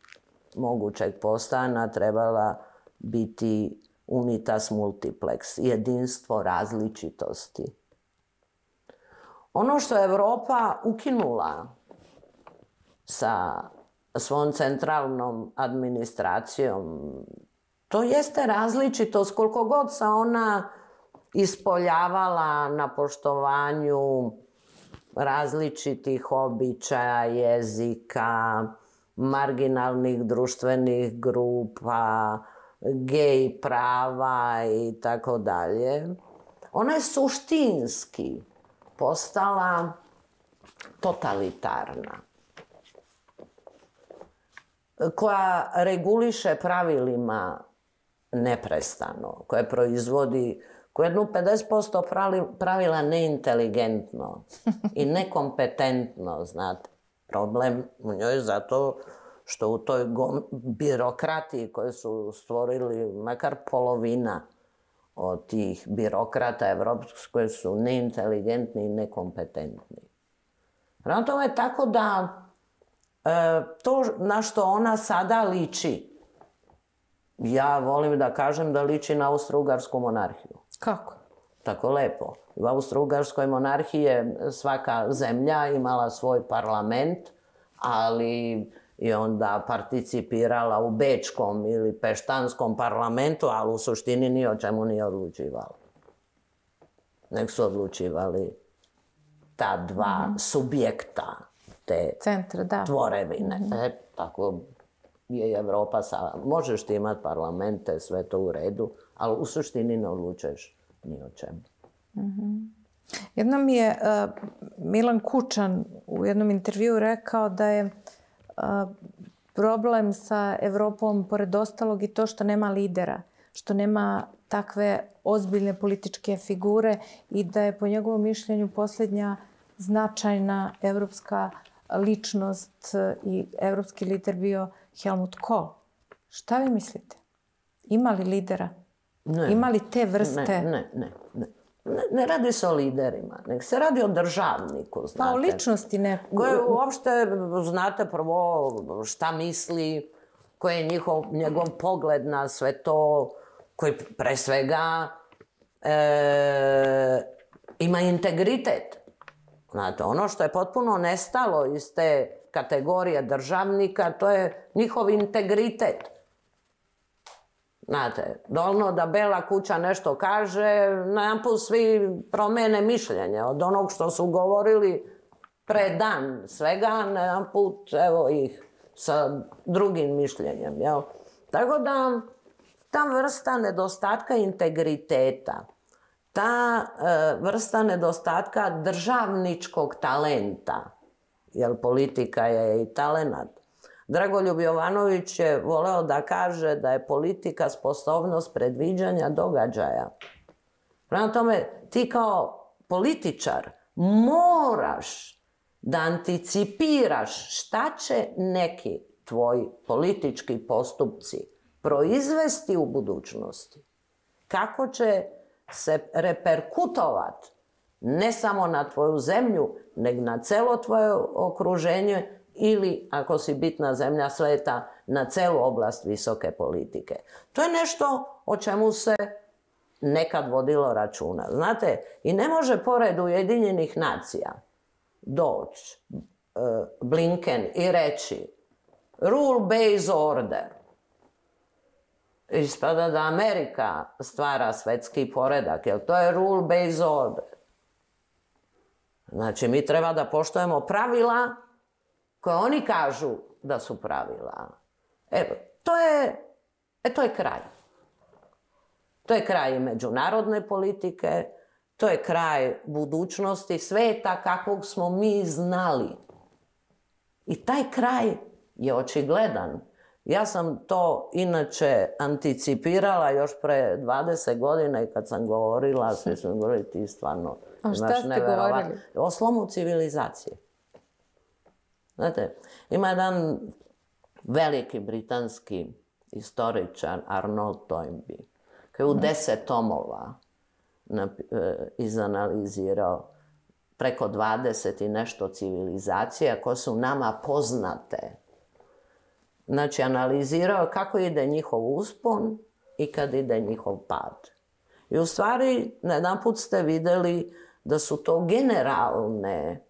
mogućeg postojanja trebala biti unitas multiplex, jedinstvo različitosti. Ono što je Evropa ukinula sa svom centralnom administracijom, to jeste različitost koliko god se ona ispoljavala na poštovanju različitih običaja, jezika, marginalnih društvenih grupa, gej prava i tako dalje. Ona je suštinski postala totalitarna, koja reguliše pravilima neprestano, koja proizvodi jednu 50% pravila neinteligentno i nekompetentno, znate. Problem u njoj je zato što u toj birokratiji koju su stvorili makar polovina od tih birokrata evropskih koji su neinteligentni i nekompetentni. Prema tome je tako da to na što ona sada liči, ja volim da kažem da liči na Austro-Ugarsku monarhiju. Kako? Tako lepo. U Austro-Ugarskoj monarhiji je svaka zemlja imala svoj parlament, ali je onda participirala u bečkom ili peštanskom parlamentu, ali u suštini ni o čemu nije odlučivala. Nek su odlučivali ta dva subjekta te tvorevine. Tako je Evropa sada. Možeš ti imati parlamente, sve to u redu, ali u suštini ne odlučuješ ni o čemu. Jednom je Milan Kučan u jednom intervjuu rekao da je problem sa Evropom, pored ostalog, i to što nema lidera, što nema takve ozbiljne političke figure i da je po njegovom mišljenju posljednja značajna evropska ličnost i evropski lider bio Helmut Kohl. Šta vi mislite? Ima li lidera? Ima li te vrste? Ne radi se o liderima, nego se radi o državniku, znate. Pa o ličnosti neku. Koje uopšte, znate prvo šta misli, koji je njegov pogled na sve to, koji pre svega ima integritet. Znate, ono što je potpuno nestalo iz te kategorije državnika, to je njihov integritet. Znate, dovoljno da Bela kuća nešto kaže, najedanput svi promene mišljenje. Od onog što su govorili pre dan svega, najedanput evo ih sa drugim mišljenjem. Jel? Tako da ta vrsta nedostatka integriteta, ta vrsta nedostatka državničkog talenta jer politika je i talenat. Dragoljub Jovanović je voleo da kaže da je politika sposobnost predviđanja događaja. Prema tome, ti kao političar moraš da anticipiraš šta će neki tvoji politički postupci proizvesti u budućnosti. Kako će se reperkutovati ne samo na tvoju zemlju, nego na celo tvoje okruženje ili, ako si bitna zemlja sveta, na celu oblast visoke politike. To je nešto o čemu se nekad vodilo računa. Znate, i ne može pored Ujedinjenih nacija doći Blinken i reći rule-based order. Ispada da Amerika stvara svetski poredak, jer to je rule-based order. Znači, mi treba da poštujemo pravila koje oni kažu da su pravila. Evo, to je kraj. To je kraj međunarodne politike, to je kraj budućnosti sveta kakvog smo mi znali. I taj kraj je očigledan. Ja sam to inače anticipirala još pre 20 godina i kad sam govorila, svi su mi govorili ti stvarno. A šta ste govorili? O slomu civilizacije. Znate, ima jedan veliki britanski istoričar Arnold Toynbee, koji je u 10 tomova izanalizirao preko 20 i nešto civilizacija koje su nama poznate. Znači, analizirao kako ide njihov uspon i kad ide njihov pad. I u stvari, najedanput ste vidjeli da su to generalne,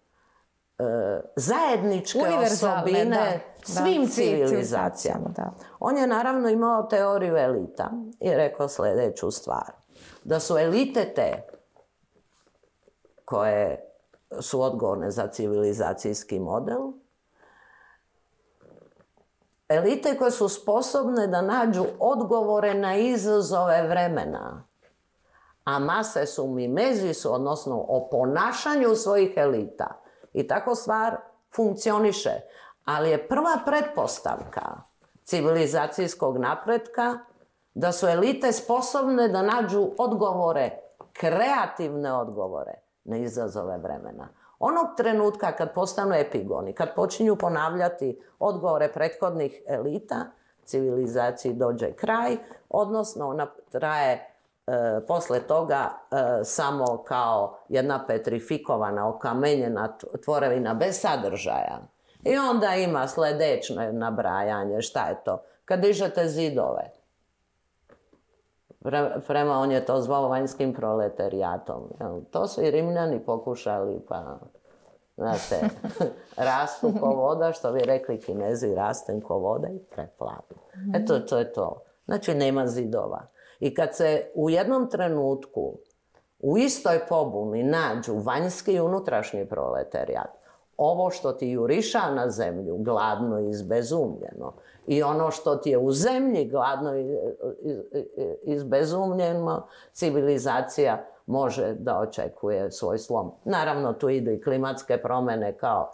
zajedničke osobine svim civilizacijama. On je naravno imao teoriju elita i rekao sljedeću stvar. Da su elite te koje su odgovorne za civilizacijski model, elite koje su sposobne da nađu odgovore na izazove vremena, a mase su mimezisu, odnosno o ponašanju svojih elita. I tako stvar funkcioniše. Ali je prva pretpostavka civilizacijskog napretka da su elite sposobne da nađu odgovore, kreativne odgovore na izazove vremena. Onog trenutka kad postanu epigoni, kad počinju ponavljati odgovore prethodnih elita, civilizaciji dođe kraj, odnosno ona traje posle toga samo kao jedna petrifikovana, okamenjena tvorevina bez sadržaja. I onda ima sljedeće nabrajanje. Šta je to? Kad dižete zidove. Prema on je to zvao vanjskim proletarijatom. To su i Rimljani pokušali, pa znate, rastu ko voda, što bi rekli Kinezi, rastem ko voda i preplavi. Eto, to je to. Znači, nema zidova. I kad se u jednom trenutku u istoj pobuni nađu vanjski i unutrašnji proletarijat, ovo što ti juriša na zemlju, gladno i izbezumljeno, i ono što ti je u zemlji gladno i izbezumljeno, civilizacija može da očekuje svoj slom. Naravno, tu idu i klimatske promjene kao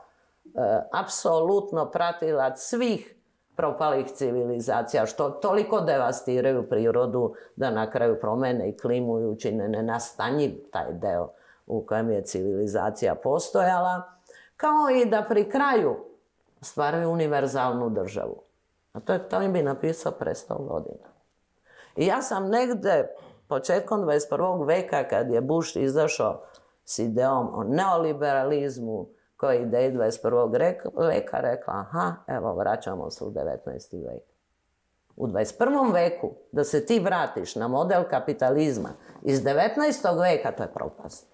apsolutno pratilac svih propalih civilizacija, što toliko devastiraju prirodu da na kraju promene i klimu i učine nenastanjiv taj deo u kojem je civilizacija postojala, kao i da pri kraju stvaraju univerzalnu državu. A to im bi napisao pre 100 godina. I ja sam negde početkom 21. veka, kad je Bush izašao s idejom o neoliberalizmu, koja je ideja 21. veka, rekla, aha, evo, vraćamo se u 19. vek. U 21. veku, da se ti vratiš na model kapitalizma iz 19. veka, to je propast.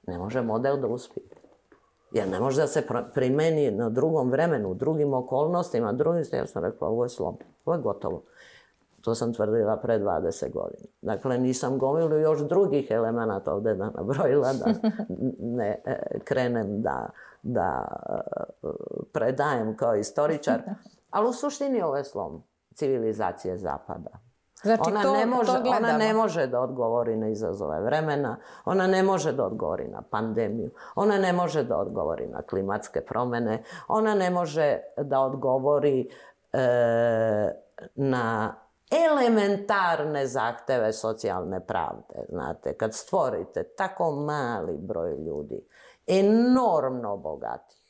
Ne može model da uspije. Jer ne može da se primeni na drugom vremenu, u drugim okolnostima, ja sam rekla, ovo je slom, ovo je gotovo. To sam tvrdila pre 20 godina. Dakle, nisam gomilu još drugih elemenata ovdje da nabrojila, da ne krenem da predajem kao istoričar. Ali u suštini ovo je slom civilizacije Zapada. Znači, ona ne može da odgovori na izazove vremena, ona ne može da odgovori na pandemiju, ona ne može da odgovori na klimatske promjene, ona ne može da odgovori na elementarne zahteve socijalne pravde. Znate, kad stvorite tako mali broj ljudi, enormno bogatih,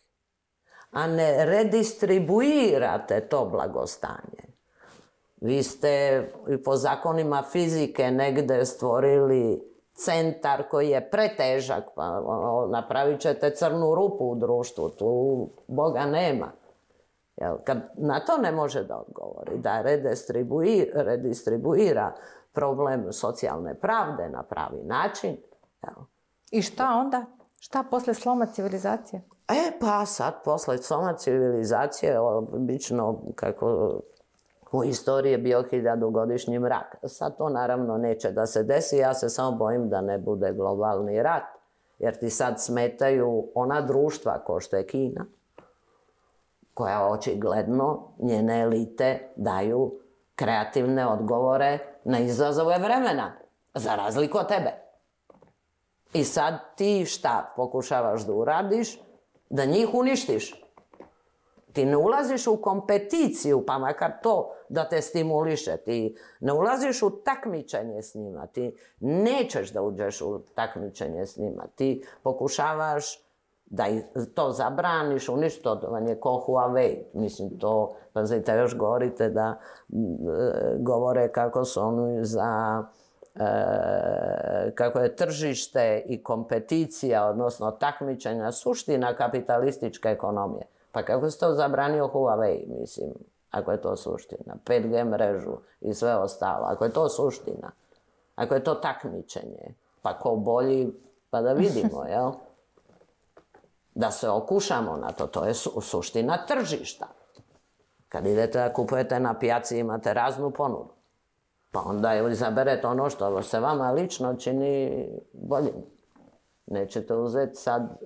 a ne redistribuirate to blagostanje, vi ste i po zakonima fizike negde stvorili centar koji je pretežak, pa napravit ćete crnu rupu u društvu, tu Boga nema. Kad na to ne može da odgovori, da redistribuira problem socijalne pravde na pravi način. I šta onda? Šta posle sloma civilizacije? Pa sad, posle sloma civilizacije, obično, kako u istoriji je bio 1000-godišnji mrak. Sad to naravno neće da se desi, ja se samo bojim da ne bude globalni rat, jer ti sad smetaju ona društva kao što je Kina, koja očigledno njene elite daju kreativne odgovore na izazove vremena, za razliku od tebe. I sad ti šta pokušavaš da uradiš? Da njih uništiš. Ti ne ulaziš u kompeticiju, pa makar to da te stimuliše. Ti ne ulaziš u takmičenje s njima. Ti nećeš da uđeš u takmičenje s njima. Ti pokušavaš da to zabraniš, uništovanje ko Huawei. Mislim, to, pazite, još govorite da govore kako su oni za kako je tržište i kompeticija, odnosno takmičenja, suština kapitalističke ekonomije. Pa kako se to zabranio Huawei, mislim, ako je to suština, 5G mrežu i sve ostalo, ako je to suština, ako je to takmičenje, pa ko bolji, pa da vidimo, jel? Da se okušamo na to, to je suština tržišta. Kad idete da kupujete na pijaci, imate raznu ponudu. Pa onda izaberete ono što se vama lično čini boljim. Nećete uzeti sad,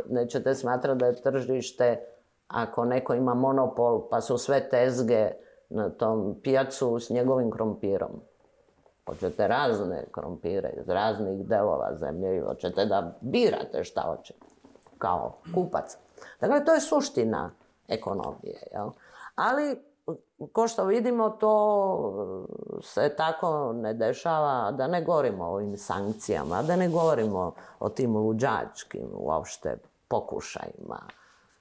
nećete smatrati da je tržište, ako neko ima monopol, pa su sve tezge na tom pijacu s njegovim krompirom. Hoćete razne krompire iz raznih delova zemlje i hoćete da birate šta hoćete, kao kupac. Dakle, to je suština ekonomije, jel? Ali, ko što vidimo, to se tako ne dešava, da ne govorimo o ovim sankcijama, da ne govorimo o tim luđačkim uopšte pokušajima,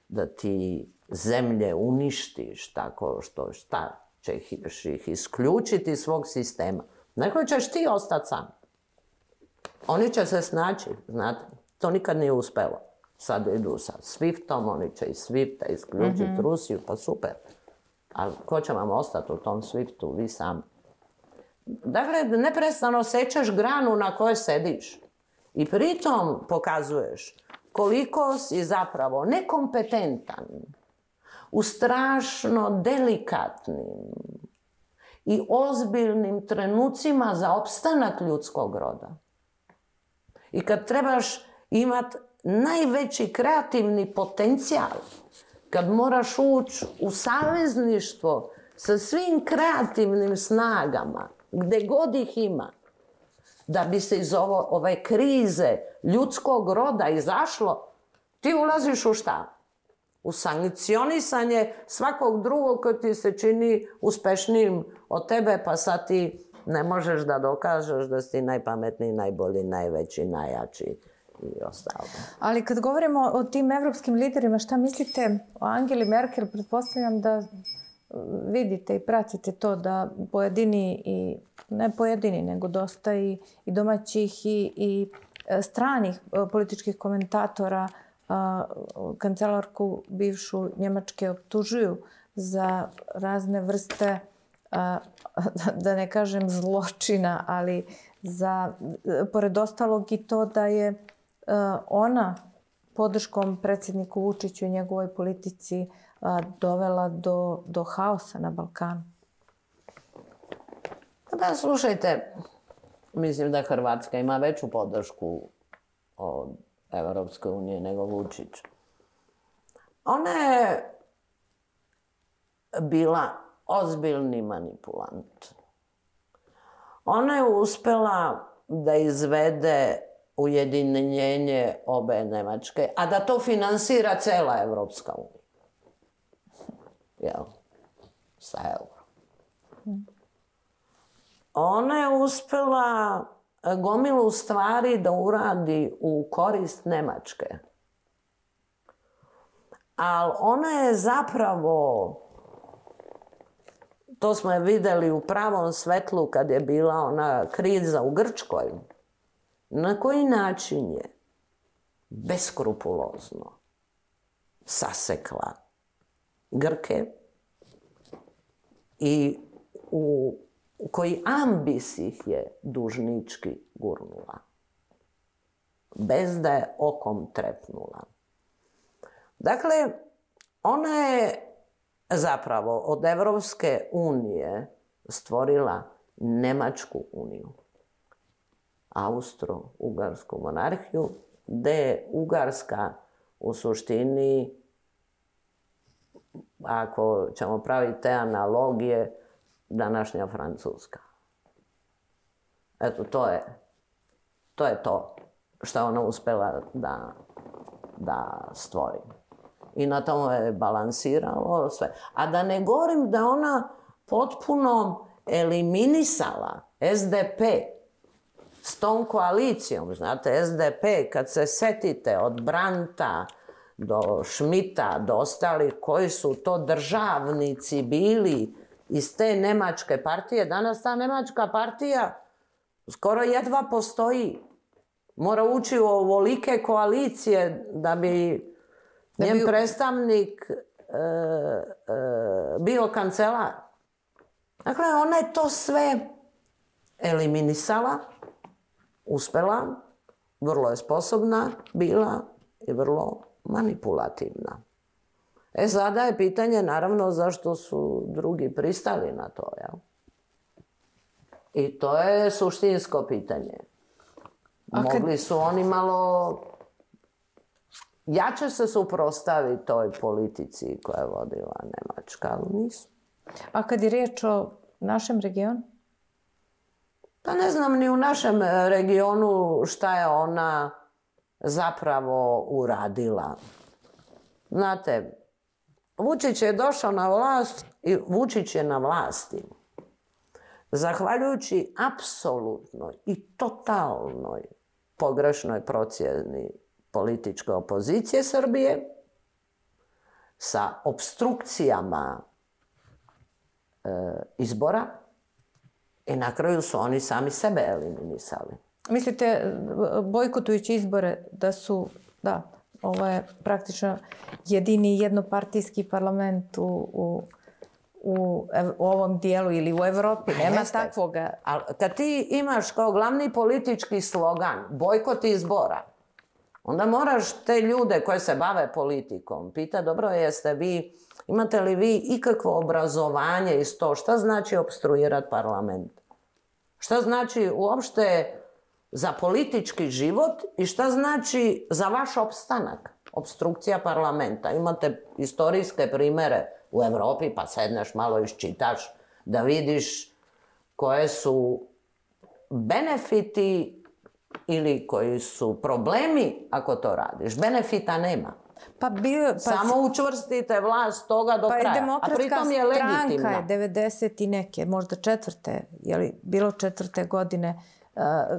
da ti zemlje uništiš tako što šta ćeš ih isključiti iz svog sistema. Neko ćeš ti ostati sam. Oni će se snaći, znate, to nikad nije uspelo. Sad idu sa Swiftom, oni će iz Swifta isključiti Rusiju, pa super. Ali ko će vam ostati u tom Swiftu, vi sami? Dakle, neprestano sečeš granu na kojoj sediš. I pritom pokazuješ koliko si zapravo nekompetentan u strašno delikatnim i ozbiljnim trenucima za opstanak ljudskog roda. I kad trebaš imati najveći kreativni potencijal, kad moraš ući u savezništvo sa svim kreativnim snagama, gde god ih ima, da bi se iz ove krize ljudskog roda izašlo, ti ulaziš u šta? U sankcionisanje svakog drugog koji ti se čini uspešnijim od tebe, pa sad ti ne možeš da dokažeš da si ti najpametniji, najbolji, najveći, najjači i ostalo. Ali kad govorimo o tim evropskim liderima, šta mislite o Angeli Merkel? Pretpostavljam da vidite i pratite to da pojedini, i ne pojedini, nego dosta i domaćih i stranih političkih komentatora kancelarku bivšu Njemačke optužuju za razne vrste, da ne kažem zločina, ali za, pored ostalog i to da je ona podrškom predsjedniku Vučiću i njegovoj politici dovela do haosa na Balkanu. Da, slušajte, mislim da Hrvatska ima veću podršku od Evropske unije nego Vučić. Ona je bila ozbiljni manipulant. Ona je uspela da izvede ujedinjenje obe Nemačke, a da to finansira cela Evropska unija. Jel? Sa eurom. Ona je uspela gomilu stvari da uradi u korist Nemačke. Ali ona je zapravo, to smo je vidjeli u pravom svetlu kad je bila ona kriza u Grčkoj, na koji način je beskrupulozno sasekla Grke i u koji ambis ih je dužnički gurnula, bez da je okom trepnula. Dakle, ona je zapravo od Evropske unije stvorila Nemačku uniju, Austro-Ugarsku monarhiju, gde je Ugarska u suštini, ako ćemo praviti te analogije, današnja Francuska. Eto, to je to što je ona uspela da stvori. I na tome je balansiralo sve. A da ne govorim da ona potpuno eliminisala SDP s tom koalicijom. Znate, SDP, kad se setite od Brandta do Schmidta, do ostalih koji su to državnici bili iz te nemačke partije, danas ta nemačka partija skoro jedva postoji. Mora ući u ovolike koalicije da bi njen predstavnik bio kancelar. Dakle, ona je to sve eliminisala, uspela, vrlo je sposobna bila i vrlo manipulativna. Sada je pitanje, naravno, zašto su drugi pristali na to, jel? I to je suštinsko pitanje. Mogli su oni malo jače se suprotstaviti toj politici koja je vodila Nemačka, ali nisu. A kad je riječ o našem regionu? Pa ne znam ni u našem regionu šta je ona zapravo uradila. Znate, Vučić je došao na vlast i Vučić je na vlasti zahvaljujući apsolutnoj i totalnoj pogrešnoj procjeni političke opozicije Srbije sa opstrukcijama izbora i na kraju su oni sami sebe eliminisali. Mislite, bojkotujući izbore, da su, da, ovo je praktično jedini jednopartijski parlament u ovom dijelu ili u Evropi. Nema takvoga. Ali kad ti imaš kao glavni politički slogan bojkot izbora, onda moraš te ljude koje se bave politikom pitati, dobro, imate li vi ikakvo obrazovanje iz to? Šta znači opstruirati parlament? Šta znači uopšte za politički život i šta znači za vaš opstanak? Opstrukcija parlamenta. Imate istorijske primere u Evropi, pa sedneš malo iščitaš da vidiš koje su benefiti ili koji su problemi ako to radiš. Benefita nema. Samo učvrstite vlast toga do kraja. A pritom je legitimna. Demokratska stranka je 90 i neke, možda četvrte, bilo 4. godine,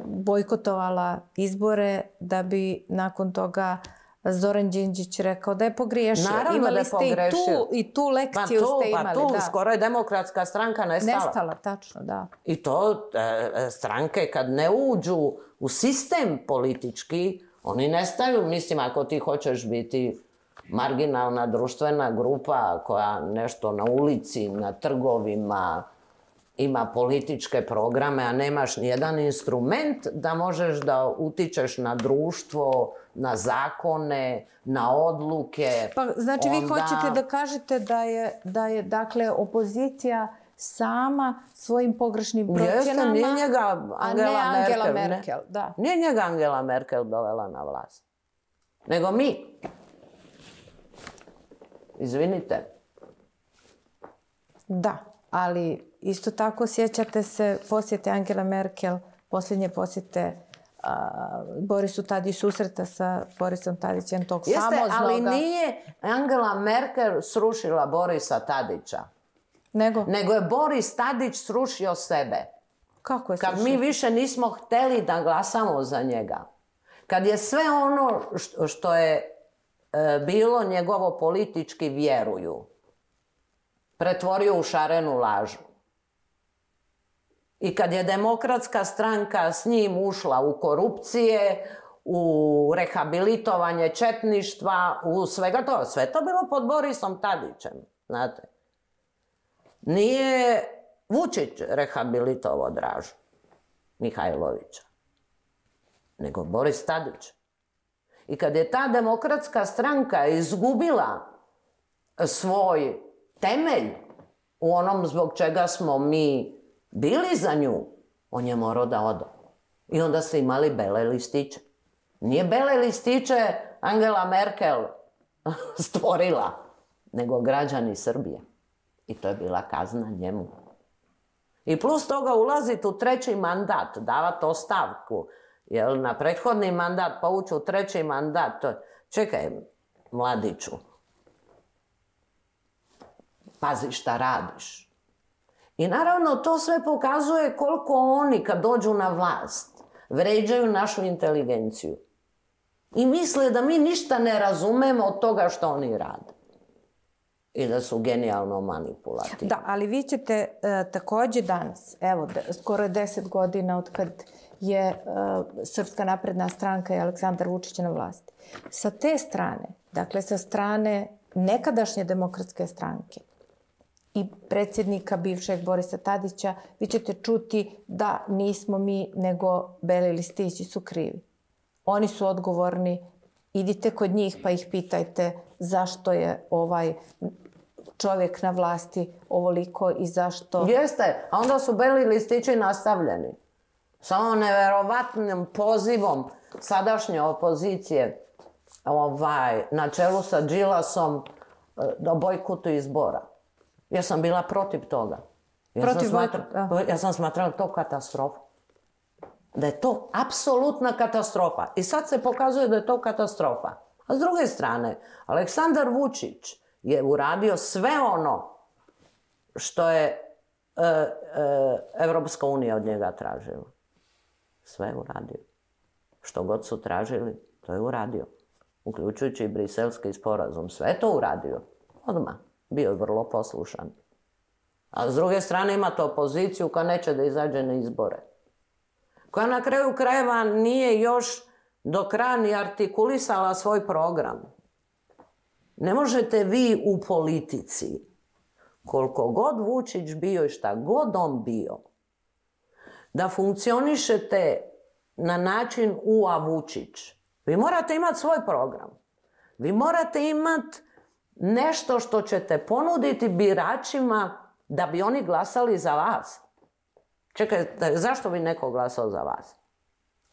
bojkotovala izbore da bi nakon toga Zoran Đinđić rekao da je pogriješio. Naravno da je pogrešio. I tu lekciju ste imali. Pa tu, skoro je Demokratska stranka nestala. Nestala, tačno, da. I to stranke kad ne uđu u sistem politički, oni nestaju. Mislim, ako ti hoćeš biti marginalna društvena grupa koja nešto na ulici, na trgovima, ima političke programe, a nemaš nijedan instrument da možeš da utičeš na društvo, na zakone, na odluke. Pa znači vi hoćete da kažete da je dakle opozicija sama svojim pogrešnim procjenama, nije njega Angela Merkel. Nije njega Angela Merkel dovela na vlast, nego mi. Izvinite. Da. Ali isto tako sjećate se posjete Angela Merkel, posljednje posjete Borisu Tadiću, susreta sa Borisom Tadićem, tog famoznoga... Jeste, ali nije Angela Merkel srušila Borisa Tadića. Nego je Boris Tadić srušio sebe. Kako je srušio? Kad mi više nismo hteli da glasamo za njega. Kad je sve ono što je bilo njegovo politički vjeruju pretvorio u šarenu lažu. I kad je Demokratska stranka s njim ušla u korupcije, u rehabilitovanje četništva, u svega to, sve to bilo pod Borisom Tadićem, znate. Nije Vučić rehabilitovao Dražu Mihajlovića, nego Boris Tadić. I kad je ta Demokratska stranka izgubila svoj temelj u onom zbog čega smo mi bili za nju, on je morao da ode. I onda ste imali bele listiće. Nije bele listiće Angela Merkel stvorila, nego građani Srbije. I to je bila kazna njemu. I plus toga ulaziti u treći mandat, davati ostavku, jer na prethodni mandat pa ući u treći mandat, čekaj, mladiću, pazi šta radiš. I naravno to sve pokazuje koliko oni kad dođu na vlast vređaju našu inteligenciju. I misle da mi ništa ne razumemo od toga što oni rade. I da su genijalno manipulativni. Da, ali vi ćete također danas, evo, skoro je 10 godina od kad je Srpska napredna stranka i Aleksandar Vučić na vlasti. Sa te strane, dakle sa strane nekadašnje Demokratske stranke i predsjednika bivšeg Borisa Tadića, vi ćete čuti da nismo mi, nego beli listići su krivi. Oni su odgovorni, idite kod njih pa ih pitajte zašto je ovaj čovjek na vlasti ovoliko i zašto... Jeste, a onda su beli listići nastavljeni. Samo neverovatnim pozivom sadašnje opozicije na čelu sa Đilasom da bojkotuju izbora. Ja sam bila protiv toga. Ja sam smatrala to katastrofa. Da je to apsolutna katastrofa. I sad se pokazuje da je to katastrofa. A s druge strane, Aleksandar Vučić je uradio sve ono što je Evropska unija od njega tražila. Sve je uradio. Što god su tražili, to je uradio. Uključujući i Briselski sporazum. Sve je to uradio. Odmah. Bio je vrlo poslušan. A s druge strane imate opoziciju koja neće da izađe na izbore. Koja na kraju krajeva nije još do kraja ni artikulisala svoj program. Ne možete vi u politici, koliko god Vučić bio i šta god on bio, da funkcionišete na način a Vučić. Vi morate imati svoj program. Vi morate imati nešto što ćete ponuditi biračima da bi oni glasali za vas. Čekajte, zašto bi neko glasao za vas?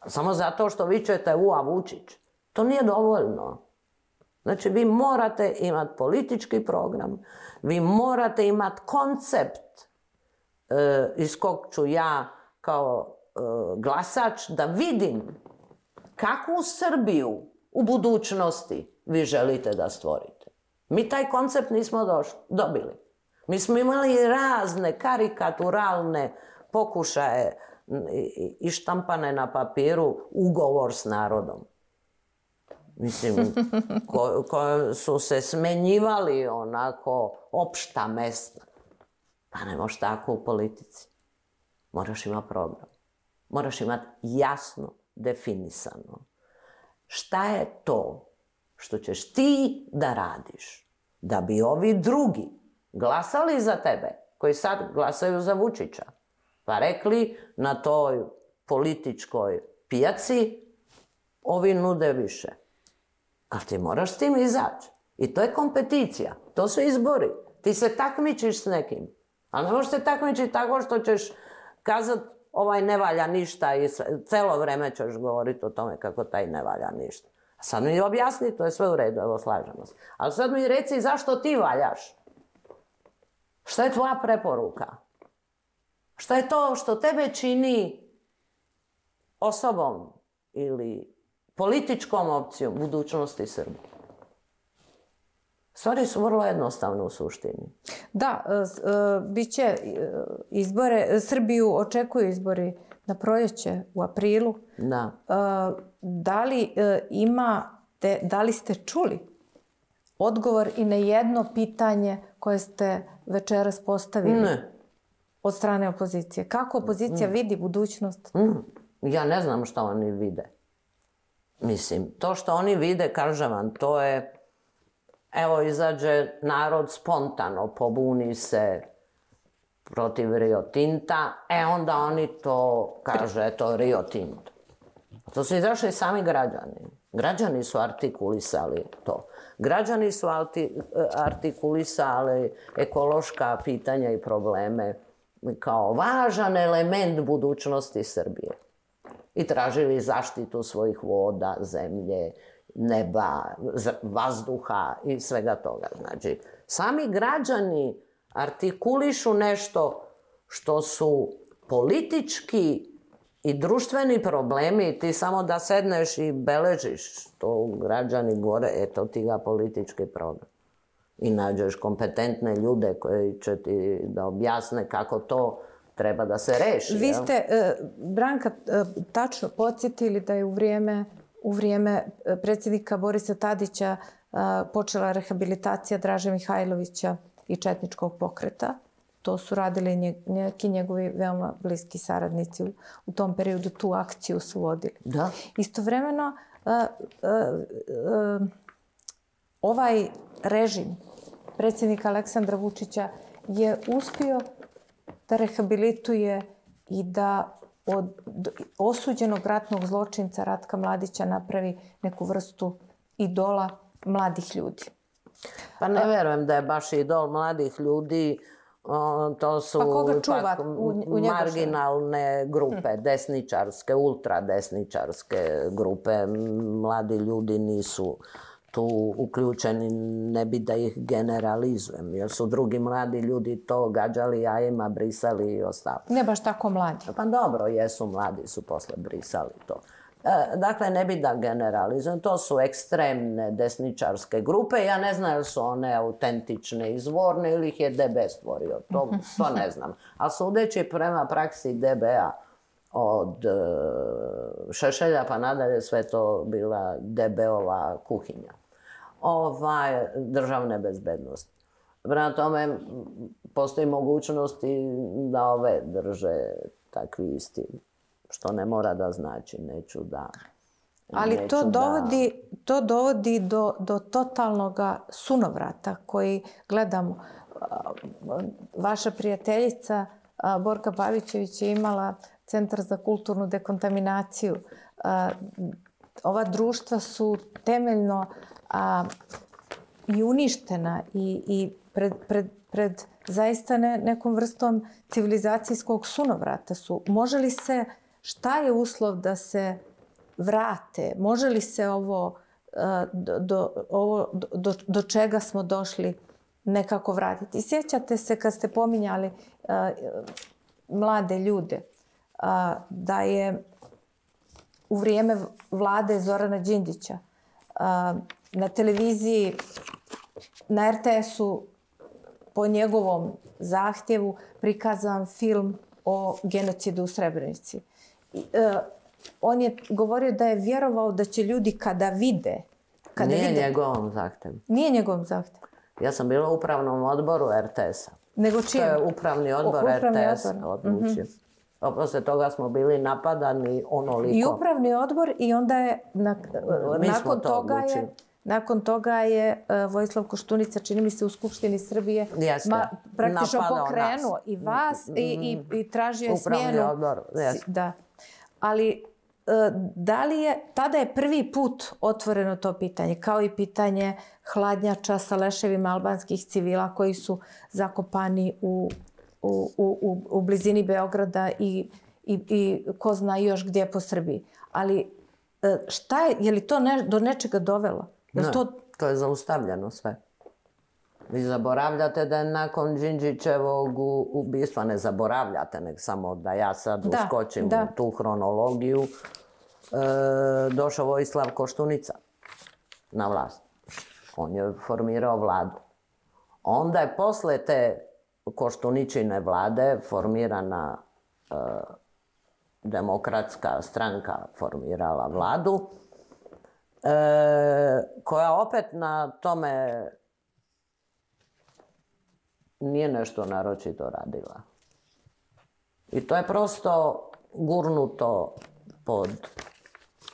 Samo zato što vi ćete a Vučić. To nije dovoljno. Znači, vi morate imati politički program, vi morate imati koncept iz kog ću ja kao glasač da vidim kakvu Srbiju u budućnosti vi želite da stvorite. Mi taj koncept nismo dobili. Mi smo imali razne karikaturalne pokušaje i štampane na papiru ugovor s narodom. Mislim, koji su se smenjivali onako opšta mesta. Pa ne možeš tako u politici. Moraš imati program. Moraš imati jasno definisano. Šta je to što ćeš ti da radiš da bi ovi drugi glasali za tebe, koji sad glasaju za Vučića, pa rekli na toj političkoj pijaci ovi nude više. Ali ti moraš s tim izaći. I to je kompeticija. To su izbori. Ti se takmičiš s nekim. Ali ne možeš se takmičiti tako što ćeš kazati ovaj ne valja ništa i celo vreme ćeš govoriti o tome kako taj ne valja ništa. A sad mi objasni, to je sve u redu, evo slažemo se. Ali sad mi reci zašto ti valjaš. Šta je tvoja preporuka? Šta je to što tebe čini osobom ili političkom opcijom budućnosti Srbije? Stvari su vrlo jednostavne u suštini. Da, bit će izbore, Srbiju očekuju izbori na proljeće u aprilu. Da. Da li ste čuli odgovor i na jedno pitanje koje ste večeras postavili? Ne. Od strane opozicije. Kako opozicija vidi budućnost? Ja ne znam šta oni vide. Mislim, to što oni vide, kažem vam, to je... Evo, izađe narod spontano, pobuni se protiv Rio Tinta, onda oni to kaže, to Rio Tinto. To su izašli sami građani. Građani su artikulisali to. Građani su artikulisali ekološka pitanja i probleme kao važan element budućnosti Srbije. I tražili zaštitu svojih voda, zemlje, neba, vazduha i svega toga. Znači, sami građani artikulišu nešto što su politički i društveni problemi. Ti samo da sedneš i beležiš to građani gore, eto ti ga politički problem. I nađeš kompetentne ljude koji će ti da objasne kako to treba da se reši. Vi ste, Branka, tačno podsjetili da je u vrijeme predsjednika Borisa Tadića počela rehabilitacija Draže Mihajlovića i četničkog pokreta. To su radili neki njegovi veoma bliski saradnici u tom periodu. Tu akciju su vodili. Da. Istovremeno, ovaj režim predsjednika Aleksandra Vučića je uspio da rehabilituje i da od osuđenog ratnog zločinca Ratka Mladića napravi neku vrstu idola mladih ljudi. Pa ne verujem da je baš idol mladih ljudi. To su pak marginalne grupe, desničarske, ultradesničarske grupe. Mladi ljudi nisu tu uključeni, ne bi da ih generalizujem, jer su drugi mladi ljudi to gađali jajima, brisali i ostalo. Ne baš tako mladi. Pa dobro, jesu mladi, su posle brisali to. Dakle, ne bi da generalizujem, to su ekstremne desničarske grupe. Ja ne znam ili su one autentične, izvorne ili ih je DB stvorio, to ne znam. A sudeći prema praksi DB-a, od Šešelja pa nadalje, sve to bila DB-ova kuhinja. Državne bezbednosti. Prema tome, postoji mogućnosti da ove drže takvi isti, što ne mora da znači, neću da... Ali to dovodi do totalnog sunovrata koji gledamo. Vaša prijateljica Borka Pavićević je imala Centar za kulturnu dekontaminaciju. Ova društva su temeljno i uništena i pred zaista nekom vrstom civilizacijskog sunovrata su. Može li se, šta je uslov da se vrate? Može li se ovo do čega smo došli nekako vratiti? Sjećate se kad ste pominjali mlade ljude, da je u vrijeme vlade Zorana Đinđića na televiziji, na RTS-u po njegovom zahtjevu prikazan film o genocidu u Srebrenici. On je govorio da je vjerovao da će ljudi kada vide... Nije njegovom zahtjevu. Nije njegovom zahtjevu. Ja sam bila u upravnom odboru RTS-a. Nego čijem? To je upravni odbor RTS-a odlučio. Posle toga smo bili napadani onoliko. I upravni odbor i onda je nakon toga je Vojislav Koštunica, čini mi se, u Skupštini Srbije praktično pokrenuo i vas i tražio je smjenu. Upravni odbor, da. Ali da li je, tada je prvi put otvoreno to pitanje, kao i pitanje hladnjača sa leševima albanskih civila koji su zakopani u blizini Beograda i ko zna još gdje po Srbiji. Ali je li to do nečega dovelo? Ne, to je zaustavljeno sve. Vi zaboravljate da je nakon Đinđićevog ubistva, ne zaboravljate, nek samo da ja sad uskočim u tu hronologiju, došao Vojislav Koštunica na vlast. On je formirao vladu. Onda je posle te Koštuničine vlade formirana Demokratska stranka formirala vladu, koja opet na tome nije nešto naročito radila. I to je prosto gurnuto pod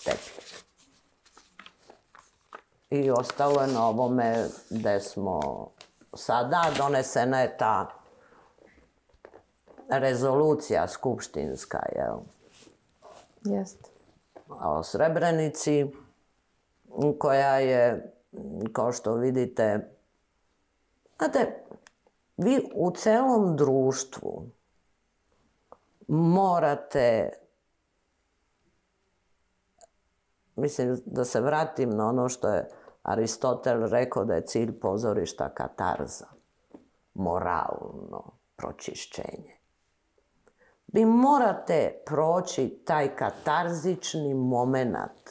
tepih. I ostalo je na ovome gde smo sada. Donesena je ta rezolucija skupštinska, jel? Jeste. O Srebrenici, koja je, kao što vidite, znate, vi u celom društvu morate, mislim da se vratim na ono što je Aristotel rekao da je cilj pozorišta katarza, moralno pročišćenje. Vi morate proći taj katarzični moment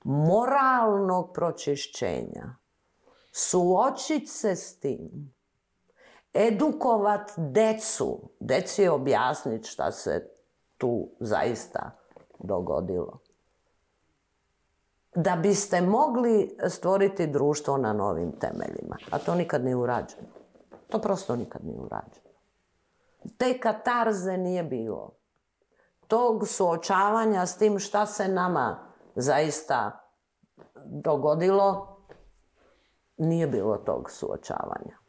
moralnog pročišćenja, suočiti se s tim, edukovat decu, deci objasniti šta se tu zaista dogodilo. Da biste mogli stvoriti društvo na novim temeljima. A to nikad nije urađeno. To prosto nikad nije urađeno. Te katarze nije bilo. Tog suočavanja s tim šta se nama zaista dogodilo, nije bilo tog suočavanja.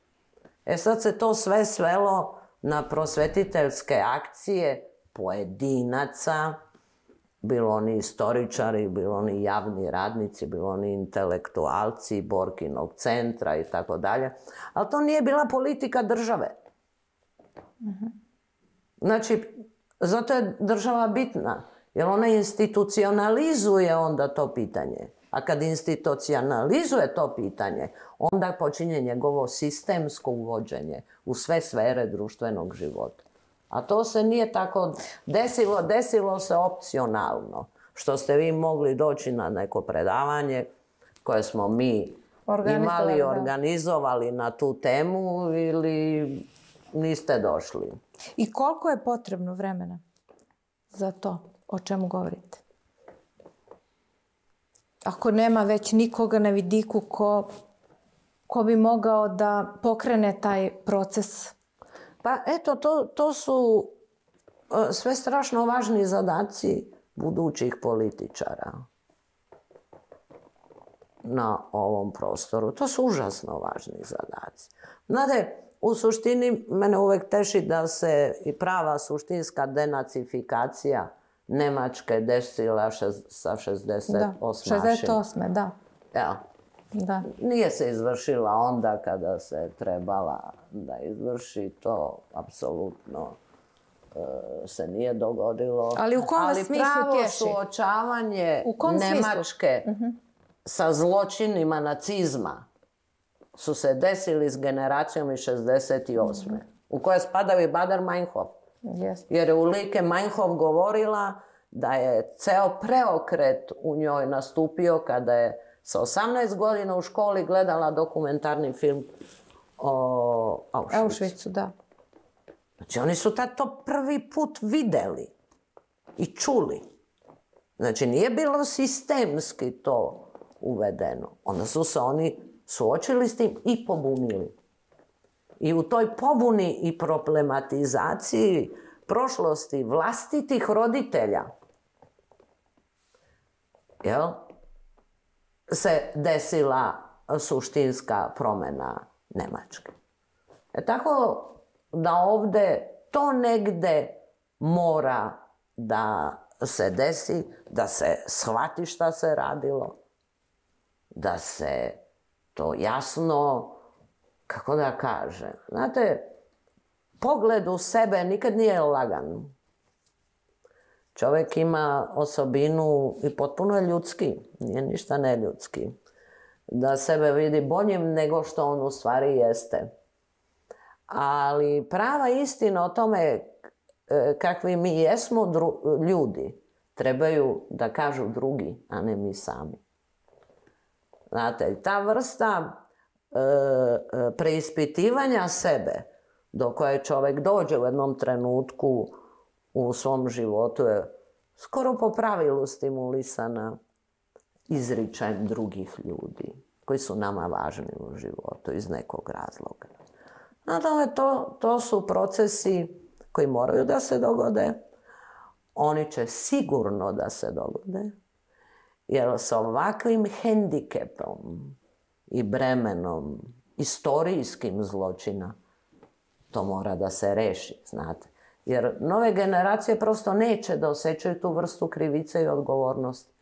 E sad se to sve svelo na prosvetiteljske akcije pojedinaca, bilo oni istoričari, bilo oni javni radnici, bilo oni intelektualci, Borkinog centra i tako dalje. Ali to nije bila politika države. Znači, zato je država bitna, jer ona institucionalizuje onda to pitanje. A kad institucionalizuje to pitanje, onda počinje njegovo sistemsko uvođenje u sve sfere društvenog života. A to se nije tako desilo, desilo se opcionalno. Što ste vi mogli doći na neko predavanje koje smo mi imali, organizovali na tu temu ili niste došli. I koliko je potrebno vremena za to o čemu govorite? Ako nema već nikoga na vidiku ko bi mogao da pokrene taj proces? Pa eto, to su sve strašno važni zadaci budućih političara na ovom prostoru. To su užasno važni zadaci. Znate, u suštini mene uvek teši da se i prava suštinska denacifikacija Nemačke desila sa 68. Da, 68. da. Ja. Da. Nije se izvršila onda kada se trebala da izvrši, to apsolutno se nije dogodilo. Ali u kom smislu pravo tješi? suočavanje Nemačke sa zločinima nacizma su se desili s generacijom iz 68. U koje spadaju i Baader-Meinhof. Jer je Ulrike Meinhof govorila da je ceo preokret u njoj nastupio kada je sa 18 godina u školi gledala dokumentarni film o Auschwitzu. Da. Znači, oni su tad to prvi put videli i čuli. Znači, nije bilo sistemski to uvedeno. Onda su se oni suočili s tim i pobunili. I u toj pobuni i problematizaciji prošlosti vlastitih roditelja, jel, se desila suštinska promena Nemačke. Tako da ovde to negde mora da se desi, da se shvati šta se radilo, da se to jasno, kako da kažem, znate, pogled u sebe nikad nije lagan. Čovjek ima osobinu i potpuno je ljudski, nije ništa neljudski. da sebe vidi boljim nego što on u stvari jeste. Ali prava istina o tome kakvi mi jesmo ljudi trebaju da kažu drugi, a ne mi sami. Znate, ta vrsta preispitivanja sebe do koje čovjek dođe u jednom trenutku u svom životu je skoro po pravilu stimulisana izričajem drugih ljudi koji su nama važni u životu iz nekog razloga. Nadalje, to su procesi koji moraju da se dogode. Oni će sigurno da se dogode, jer sa ovakvim hendikepom i bremenom istorijskim zločina to mora da se reši, znate. Jer nove generacije prosto neće da osjećaju tu vrstu krivice i odgovornosti.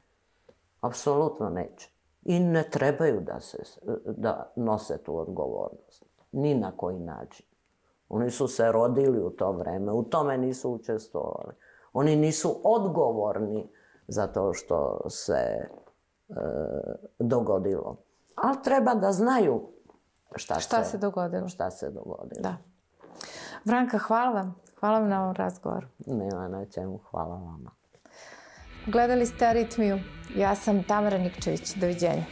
Apsolutno neće. I ne trebaju da nose tu odgovornost. Ni na koji način. Oni su se rodili u to vreme, u tome nisu učestvovali. Oni nisu odgovorni za to što se dogodilo. Ali treba da znaju šta se dogodilo. Da. Vranka, hvala vam. Hvala vam na ovom razgovoru. Nema na čemu, hvala vama. Gledali ste Aritmiju. Ja sam Tamara Nikčević. Doviđenja.